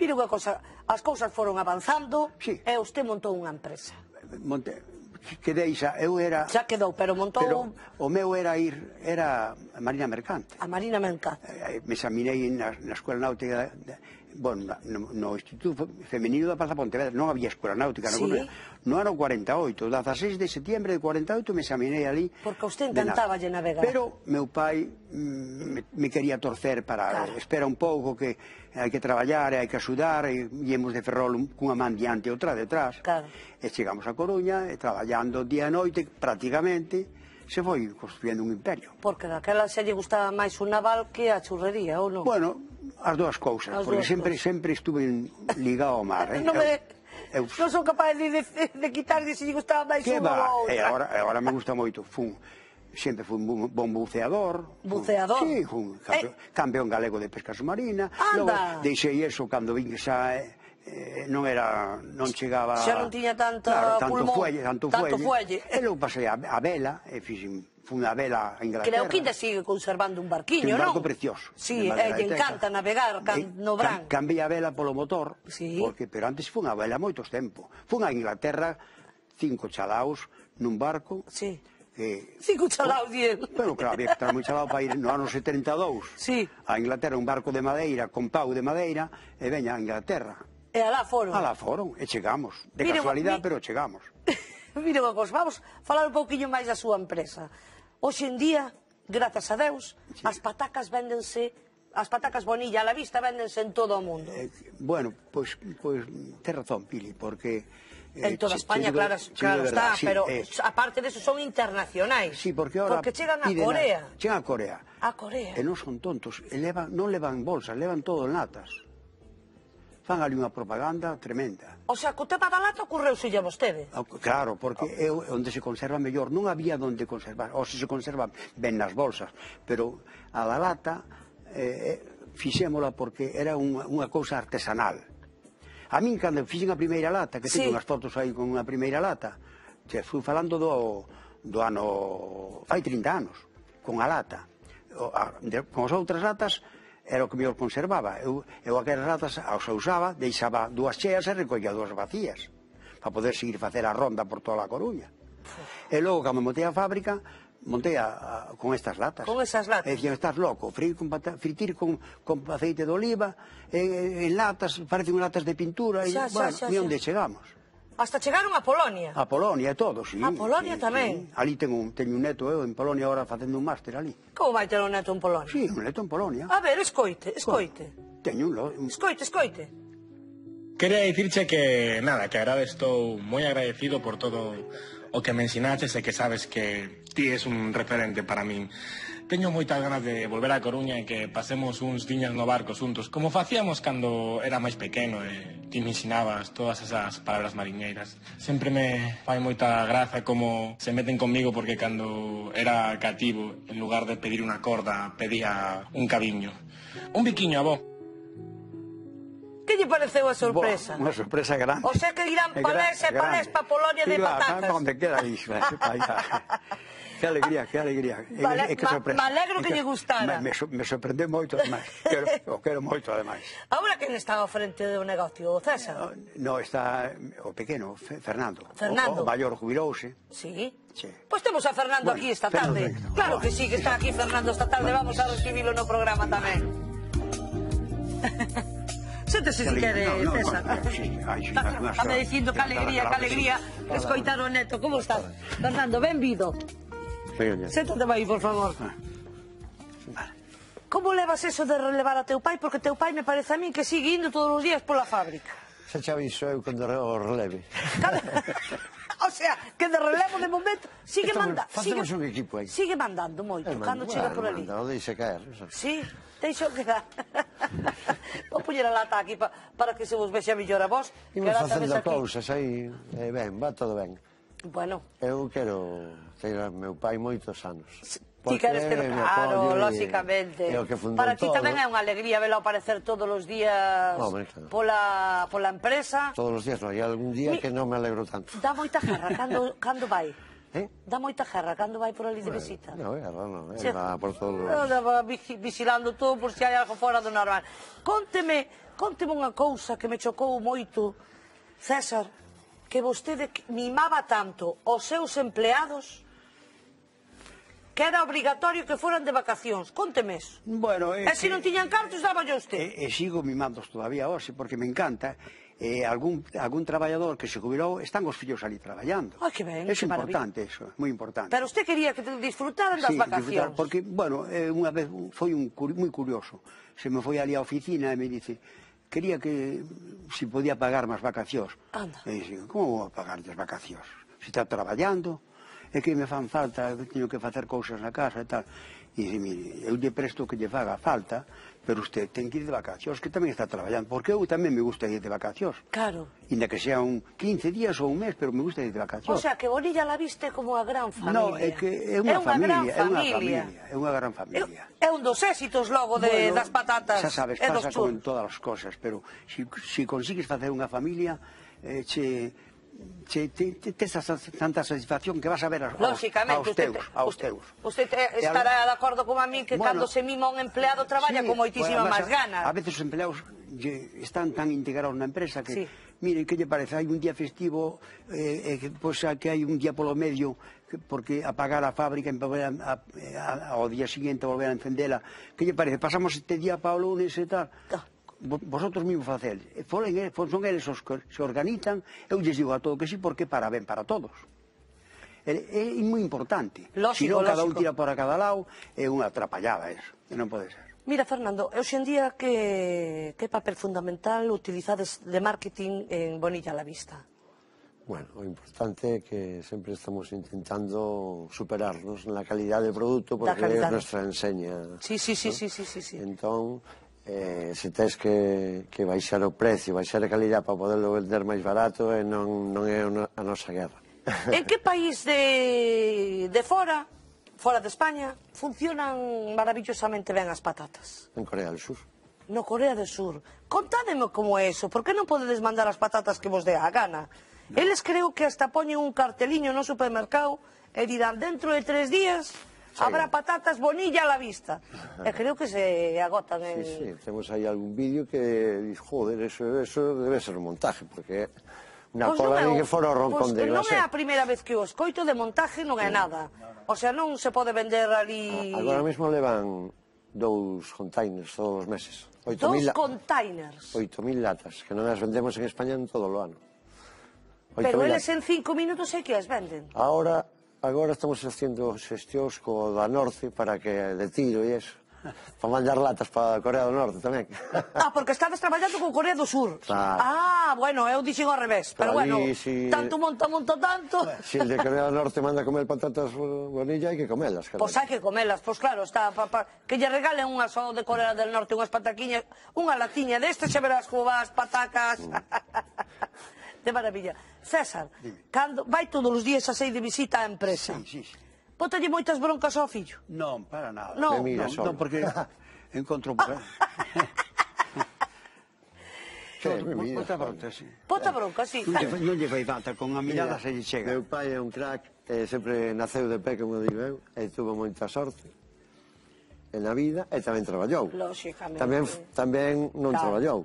Mire unha cosa, as cousas foron avanzando sí. e usted montou unha empresa. Monte, quedei xa, eu era... Xa quedou, pero montou... Pero o meu era ir, era a Marina Mercante. A Marina Mercante. Me examinei na, na Escola Náutica, bueno, no, no Instituto Femenino da Praza Pontevedra non había escola náutica na Sí. Coruña. No ano cuarenta e oito, dezaseis de setembro de cuarenta e oito me examinei ali. Porque a usted de nado. encantáballe navegar. Pero meu pai mm, me, me quería torcer para Claro. espera un pouco que hai que traballar, hai que axudar, e íamos de Ferrol un- cunha man diante e outra detrás. Claro. E chegamos a Coruña, e traballando día e noite prácticamente, se foi construyendo un imperio. Porque daquela se lle gustaba máis un naval que a churrería, ou non? Bueno, as dúas cousas, As porque dúas sempre cousas. sempre estuve ligado ao mar, eh? non, me, Eu- eu- non son capaz de, de, de quitar de se lle gustaba máis que unha va? ou E outra. agora, agora me gusta moito, fun sempre fui un bu- bon buceador. Buceador? Sí, fun campeón, Eh. campeón galego de pesca submarina. Anda. Logo deixei eso cando vin que xa eh, non era, non chegaba... Xa non tiña tanta claro, tanto pulmón, fuelle, tanto, tanto fuelle. fuelle. E logo pasei a, a vela, e fixen, fun a vela a Inglaterra. Creo que ainda sigue conservando un barquiño, un non? barco precioso. Sí, de e madeira lle de teca. encanta navegar can, Eh, no cam- Bran. Cambiei a vela polo motor, Sí. porque, pero antes fun a vela moitos tempo. Fun a Inglaterra, cinco chalaos, nun barco, Sí. que... Cinco chalaos, diel. Pero claro, había que estar moi chalao para ir no ano setenta e dous Sí. a Inglaterra, un barco de madeira, con pau de madeira, e veña a Inglaterra. E alá foron. Alá foron, e chegamos. De Mire, casualidade, mi- pero chegamos. Mira unha cosa, vamos falar un pouquiño máis da súa empresa. Hoxe en día, grazas a Deus, Sí. as patacas véndense, as patacas Bonilla a la vista véndense en todo o mundo. Eh, bueno, pois, pois, ten razón, Pili, porque... eh, En toda che- España, che digo- claro, che digo claro de está, verdad, sí, pero eh, aparte de eso son internacionais. sí, porque ahora Porque chegan a piden Corea. Chegan a Corea. A Corea. E non son tontos, e levan, non levan bolsas, levan todo en latas. Fan ali unha propaganda tremenda. O sea, que o tema da lata ocorreuselle a vostede. Ah, claro, porque é o- onde se conserva mellor. Non había onde conservar, ou se se conserva ben nas bolsas, pero a da lata eh, fixémola porque era unha, unha cousa artesanal. A min, cando fixen a primeira lata, que Sí. teño unhas fotos aí con unha primeira lata, che, fui falando do, do ano... fai trinta anos, con a lata. O, a, de, con as outras latas era o que mellor conservaba. Eu, eu aquelas latas as usaba, deixaba dúas cheas e recollía dúas vacías, para poder seguir facer a ronda por toda a Coruña. E logo, cando montei a fábrica, montei a, a, con estas latas. Con esas latas. E dicían, estás loco, fritir con, pata, fritir con, con aceite de oliva, en, en latas, parecen latas de pintura, e, Xa, xa, bueno, xa, e xa. onde chegamos? Hasta chegaron a Polonia. A Polonia e todo, sí. A Polonia sí, tamén. Sí. Ali teño un, teño un neto, eu, en Polonia, ahora facendo un máster ali. Como vai ter un neto en Polonia? Sí, un neto en Polonia. A ver, escoite, escoite. Teño un, lo- un Escoite, escoite. Quería dicirche que, nada, que agora estou moi agradecido por todo o que me ensinaches e que sabes que ti es un referente para min. Teño moitas ganas de volver a Coruña e que pasemos uns diñas no barco xuntos, como facíamos cando era máis pequeno e ti me ensinabas todas esas palabras mariñeiras. Sempre me fai moita graza como se meten comigo porque cando era cativo, en lugar de pedir unha corda, pedía un cabiño. Un biquiño, avó. Que lle pareceu a sorpresa? Boa, unha sorpresa grande. O sea que irán É palés e gra- palés grande. pa Polonia de Sí, va, patacas. va, onde queda aí, vai, vai, vai. Que alegría, que alegría. E- Vale, e que ma- sorpresa. me alegro E que lle gustara. Me, me, so- me sorprendeu moito, ademais. Quero, o quero moito, ademais. Ahora quen está ao frente do negocio? O César? No, está o pequeno, Fe- Fernando. Fernando. O, o maior jubilouse. Sí. Sí. Pois temos a Fernando Bueno, aquí esta Fernando, tarde. no, Claro no. que sí, que está aquí Fernando esta tarde. Vamos a recibilo no programa tamén. Séntese se quere, No, no, César. no, sí, ai, sí, Está unha- está me dicindo que alegría, que alegría escoitar o neto. Como estás? Fernando, benvido. Séntate aí, por favor. Como levas eso de relevar a teu pai? Porque teu pai me parece a mí que sigue indo todos os días pola fábrica. Xa xa aviso eu cando o releve. O sea, que de relevo de momento sigue Estamos- mandando. facemos un equipo aí. Sigue mandando moito, Eh, cando mando- chega bueno, por ali. manda, o deixe caer. Eso. Sí, deixo que dá. Vou poñer a lata aquí pa, para que se vos vexa mellor a vos. que Imos a lata facendo ves aquí. cousas aí, e ben, va todo ben. Bueno, Eu quero ter a meu pai moitos anos. ti queres ter... me Claro, apoio e- lóxicamente. É o que fundou Para ti todo. tamén é unha alegría velo aparecer todos os días Hombre, claro. pola, pola empresa. Todos os días, non, hai algún día Mi- que non me alegro tanto. Dá moita jarra cando, cando vai. Eh? Dá moita jarra cando vai por ali de visita. Non, é, non, non, Sí. va por todos os... Anda va vigi- vigilando todo por se hai algo fora do normal. Conteme, conteme unha cousa que me chocou moito, César, que vostede mimaba tanto os seus empleados. que era obrigatorio que foran de vacacións. Cónteme eso. Bueno, E se non tiñan cartos, daba yo usted. E, e sigo mimándoos todavía hoxe, porque me encanta. Eh, algún, algún traballador que se jubilou, están os fillos ali traballando. Ai, que ben, É que importante eso, moi importante. Pero usted quería que disfrutaran das Sí, vacacións. porque, bueno, eh, unha vez foi un, moi curioso. Se me foi ali á oficina e me dice, quería que si podía pagar máis vacacións. Anda. E dixe, como vou a pagar as vacacións? Se está traballando, é que me fan falta, teño que facer cousas na casa e tal. E dice, mire, eu lle presto que lle faga falta, pero usted ten que ir de vacacións, que tamén está traballando, porque eu tamén me gusta ir de vacacións. Claro. Inda que sea un quince días ou un mes, pero me gusta ir de vacacións. O sea, que Bonilla la viste como a gran familia. No, é que é unha familia, é unha familia, é unha gran familia. É un dos éxitos logo de, Bueno, das patatas xa sabes, e dos pasa como churros. en todas as cosas, pero si, si consigues facer unha familia, eh, che... Che, te, te, te esa tanta satisfacción que vas a ver aos, aos teus, aos teus. Usted estará de acordo con a mí que bueno, cando se mima un empleado traballa sí, con moitísima pues, máis ganas. A veces os empleados lle, están tan integrados na empresa que, sí. mire, que lle parece, hai un día festivo, eh, eh, pues, que hai un día polo medio, que, porque apagar a fábrica e volver a, a, a, ao día siguiente volver a encendela, que lle parece, pasamos este día para o lunes e tal. Ah. Vosotros mismos facéis, son eles os que se organizan, eu lles digo a todo que sí, porque para ben para todos. É, é moi importante. Se non cada un tira por a cada lado, é unha atrapallada eso, e non pode ser. Mira, Fernando, hoxe en día que, que papel fundamental utilizades de marketing en Bonilla a la Vista? Bueno, o importante é que sempre estamos intentando superarnos na calidad de produto, porque é nuestra enseña. Sí, sí, sí, sí, sí, sí. Entón, Eh, se tens que, que baixar o precio, baixar a calidad para poderlo vender máis barato, eh, non, non é a nosa guerra. En que país de, de fora, fora de España, funcionan maravillosamente ben as patatas? En Corea del Sur. No Corea del Sur. Contádeme como é eso, por que non podedes mandar as patatas que vos dé a gana? No. Eles creo que hasta poñen un carteliño no supermercado e dirán, dentro de tres días... Sí. Habrá patatas Bonilla a la vista. E creo que se agotan en... Sí, sí, temos aí algún vídeo que diz, joder, eso, eso debe ser un montaje, porque unha pues cola no ni que fora o roncón pues de non glacé. é a primeira vez que o escoito de montaje non é nada. O sea, non se pode vender ali... Agora mesmo levan dous containers todos os meses. Dous containers? Oito mil latas, que non as vendemos en España en todo o ano. Pero eles en cinco minutos é que as venden. Ahora... Agora estamos facendo xestións co da Norte para que de tiro e eso. Para mandar latas para Corea do Norte tamén. Ah, porque estades traballando con Corea do Sur. Claro. Ah, bueno, eu dixen ao revés. Pero, pero bueno, si... tanto monta, monta tanto. Si el de Corea do Norte manda comer patatas Bonilla, hai que comelas. Pois pues hai que comelas, pois pues claro, está pa, pa, que lle regalen unha só de Corea del Norte, unhas pataquiñas, unha latiña deste, xa verás como vas, patacas. De maravilla. César, cando vai todos os días a sei de visita á empresa? Sí, sí, sí. Bótalle moitas broncas ao fillo? Non, para nada. No, no, no porque encontro por aí. Bota bronca, sí. Bota bronca, sí. Non lle fai falta, con a mirada se lle chega. Meu pai é un crack, eh, sempre naceu de pé, como digo eu, e tuvo moita sorte en a vida e tamén traballou. Lóxicamente. Tamén, tamén non claro. traballou.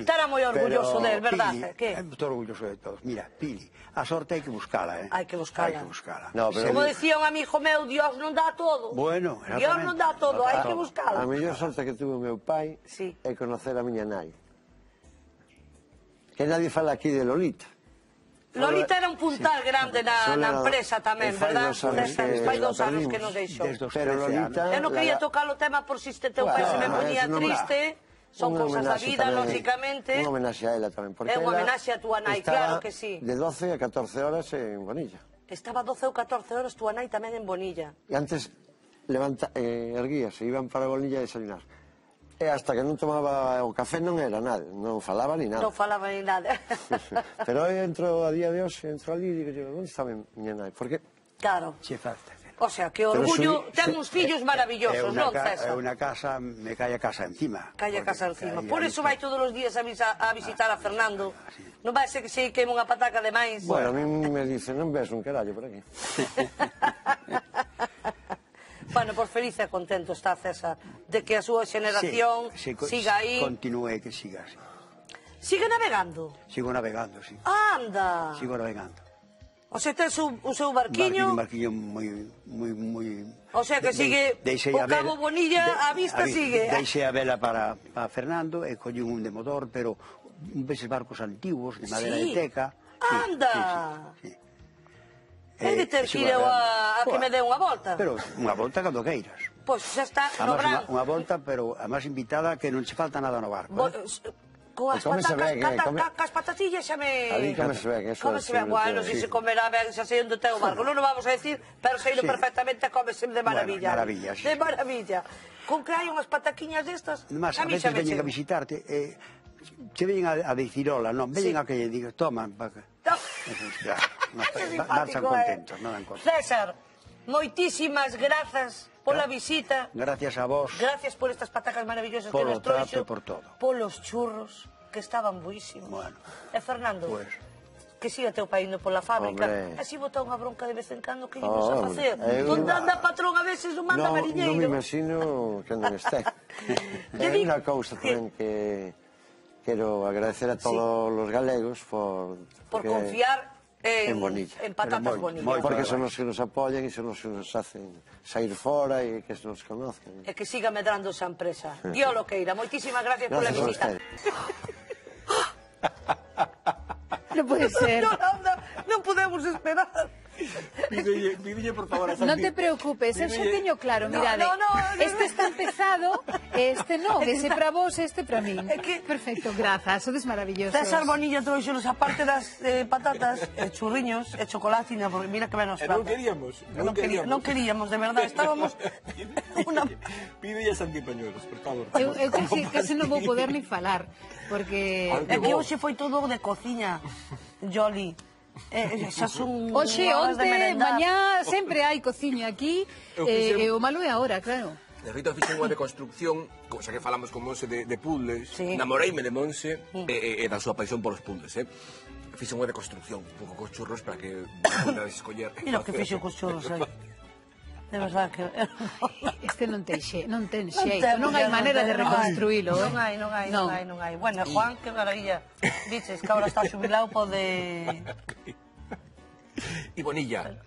Estará moi orgulloso del, verdade? Estou orgulloso de todos. Mira, Pili, a sorte hai que buscala, eh? Hai que buscala. Hai que buscala. No, pero... Como decía un amigo meu, Dios non dá todo. Bueno, Dios non dá todo, hai que buscala. A mellor sorte que tuvo meu pai sí. é conocer a miña nai. Que nadie fala aquí de Lolita. Lolita era un puntal sí. grande na, na empresa tamén, verdad? Fai dos anos que nos deixou. Pero Lolita... Eu non quería tocar o tema por si este teu pai se me ponía triste. Son cousas da vida, lógicamente. Unha homenaxe a ela tamén. É unha homenaxe a túa nai, claro que sí. De doce a catorce horas en Bonilla. Estaba doce ou catorce horas túa nai tamén en Bonilla. E antes levanta, eh, erguíase, iban para Bonilla a desayunar. E hasta que non tomaba o café non era nada, non falaba ni nada. Non falaba ni nada. Pero eu entro a día de hoxe, entro ali e digo, onde está miña nai? Porque... Claro. Che falta. O sea, que orgullo, ten uns fillos maravillosos, non, César? É unha casa, me cae a casa encima. Cae a casa encima. Por eso vai todos os días a visitar a Fernando. Non vai ser que se queime unha pataca de máis. Bueno, a mí me dice, non ves un carallo por aquí. Bueno, por feliz e contento está César de que a súa xeneración sí, sí, siga aí. Continúe, que siga así. Sigue navegando? Sigo navegando, sí. Anda. Sigo navegando. O sea, tes un, un seu Barquiño, barquiño... un barquiño moi, moi, moi... O sea, que sigue de, o Cabo Bonilla, de, a vista a, sigue. Deixei a vela para, para Fernando e collín un de motor, pero un veces barcos antiguos, de madera Sí. de teca. Anda! Sí, sí, sí. É de ter que ir eu a, a que me dé unha volta. Pero unha volta cando queiras. Pois xa está, no Además, verán. unha, unha volta, pero a máis invitada que non che falta nada no barco. Bo- Eh? Con as E cómese patacas, ben, eh, cata, come- ca- cas patatillas xa me... Ali cómese ben, eso Cómese é ben, bueno, sí. si se comerá ben, xa sei onde ten o barco. Non o vamos a decir, pero sei Sí. perfectamente cómese de maravilla. Bueno, maravilla, sí. De maravilla. Con que hai unhas pataquiñas destas, Mas, a a mí veces xa me veñen a chega. visitarte, eh, che veñen a, a dicir hola, non, veñen Sí. a que lle digas, toma, pa que... No. Ya, no, Que marchan simpático, contentos, eh. non dan contentos. César, moitísimas grazas pola visita. Gracias a vos. Gracias por estas patacas maravillosas que Polo nos trouxo. trato e por todo. Polos churros, que estaban buísimos. Bueno. E Fernando, Pues, que siga teu pai indo pola fábrica. Hombre. Así botar unha bronca de vez en cando que íbamos a Oh, facer. eu- Onde anda patrón a veces non manda Non, non me mariñeiro. imagino que non este. Lle É digo unha cousa tamén que quero agradecer a todos os galegos por, Por porque- confiar en, en Bonilla. en patatas Pero moi- bonillas. moi Porque son os que nos apoyan e son os que nos hacen sair fora e que nos conozcan. E que siga medrando esa empresa. Dios lo queira. Moitísimas gracias, pola Gracias a visita. ustedes. Non pode ser. Non, anda, non podemos esperar. Pídelle, pídelle, por favor, a Santi. Non te preocupes, eu xa teño claro, No, mirade. no, no, no, Este está empezado, este non, ese para vos, este para min. É que- Perfecto, grazas, sodes maravillosos. César Bonilla trouxenos aparte das eh, patatas, e churriños, e chocolatina, porque mira que ben nos E trata. non queríamos, Non, non querí- queríamos. non queríamos, de verdade, estábamos... Una... Pídelle a Santi Pañuelos, por favor. Eu, eu casi, casi non vou poder ni falar, porque... É que hoxe foi todo de cociña, Jolly. Eh, xa son Oxe, horas de onte, merendar. mañá, sempre hai cociña aquí, Eu eh, fixen- e o malo é agora, claro. De feito, fixen unha deconstrucción, cosa que falamos con Monse de, de puzzles, Sí. namoreime de Monse e, e, e da súa paixón polos puzzles, eh? Fixen unha deconstrucción, un pouco cos churros, para que podades escoller. Mira o que fixo cos churros aí. De verdade que... Este non ten xe, non ten Non xeito, ten, non hai non maneira ten, de non hai. reconstruílo, eh? Non hai, non hai, non Non. hai, non hai. Bueno, Juan, que maravilla. Dices que ahora está xubilado, pode... E Bonilla.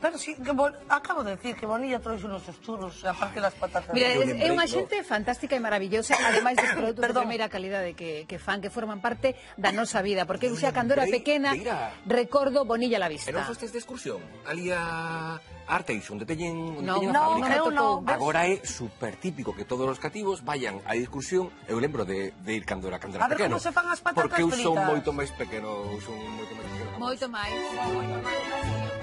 Pero sí, que bon... acabo de decir que Bonilla trouxe unos churros, aparte das patatas. Mira, Eu é, lembrei, é unha no. xente fantástica e maravillosa, ademais dos produtos de Perdón. primeira calidade que, que fan, que forman parte da nosa vida, porque eu xa cando era lembrei pequena de ir a- recordo Bonilla a la E vista. non fostes de excursión? Ali a Arteix, onde teñen, onde No, teñen a no, fábrica. eu non. Agora é super típico que todos os cativos vayan á excursión. Eu lembro de, de ir cando era, cando era A ver pequeno. como se fan as patatas Porque eu son fritas. moito máis pequeno. Eu son moito máis pequeno. Moito máis. Moito máis.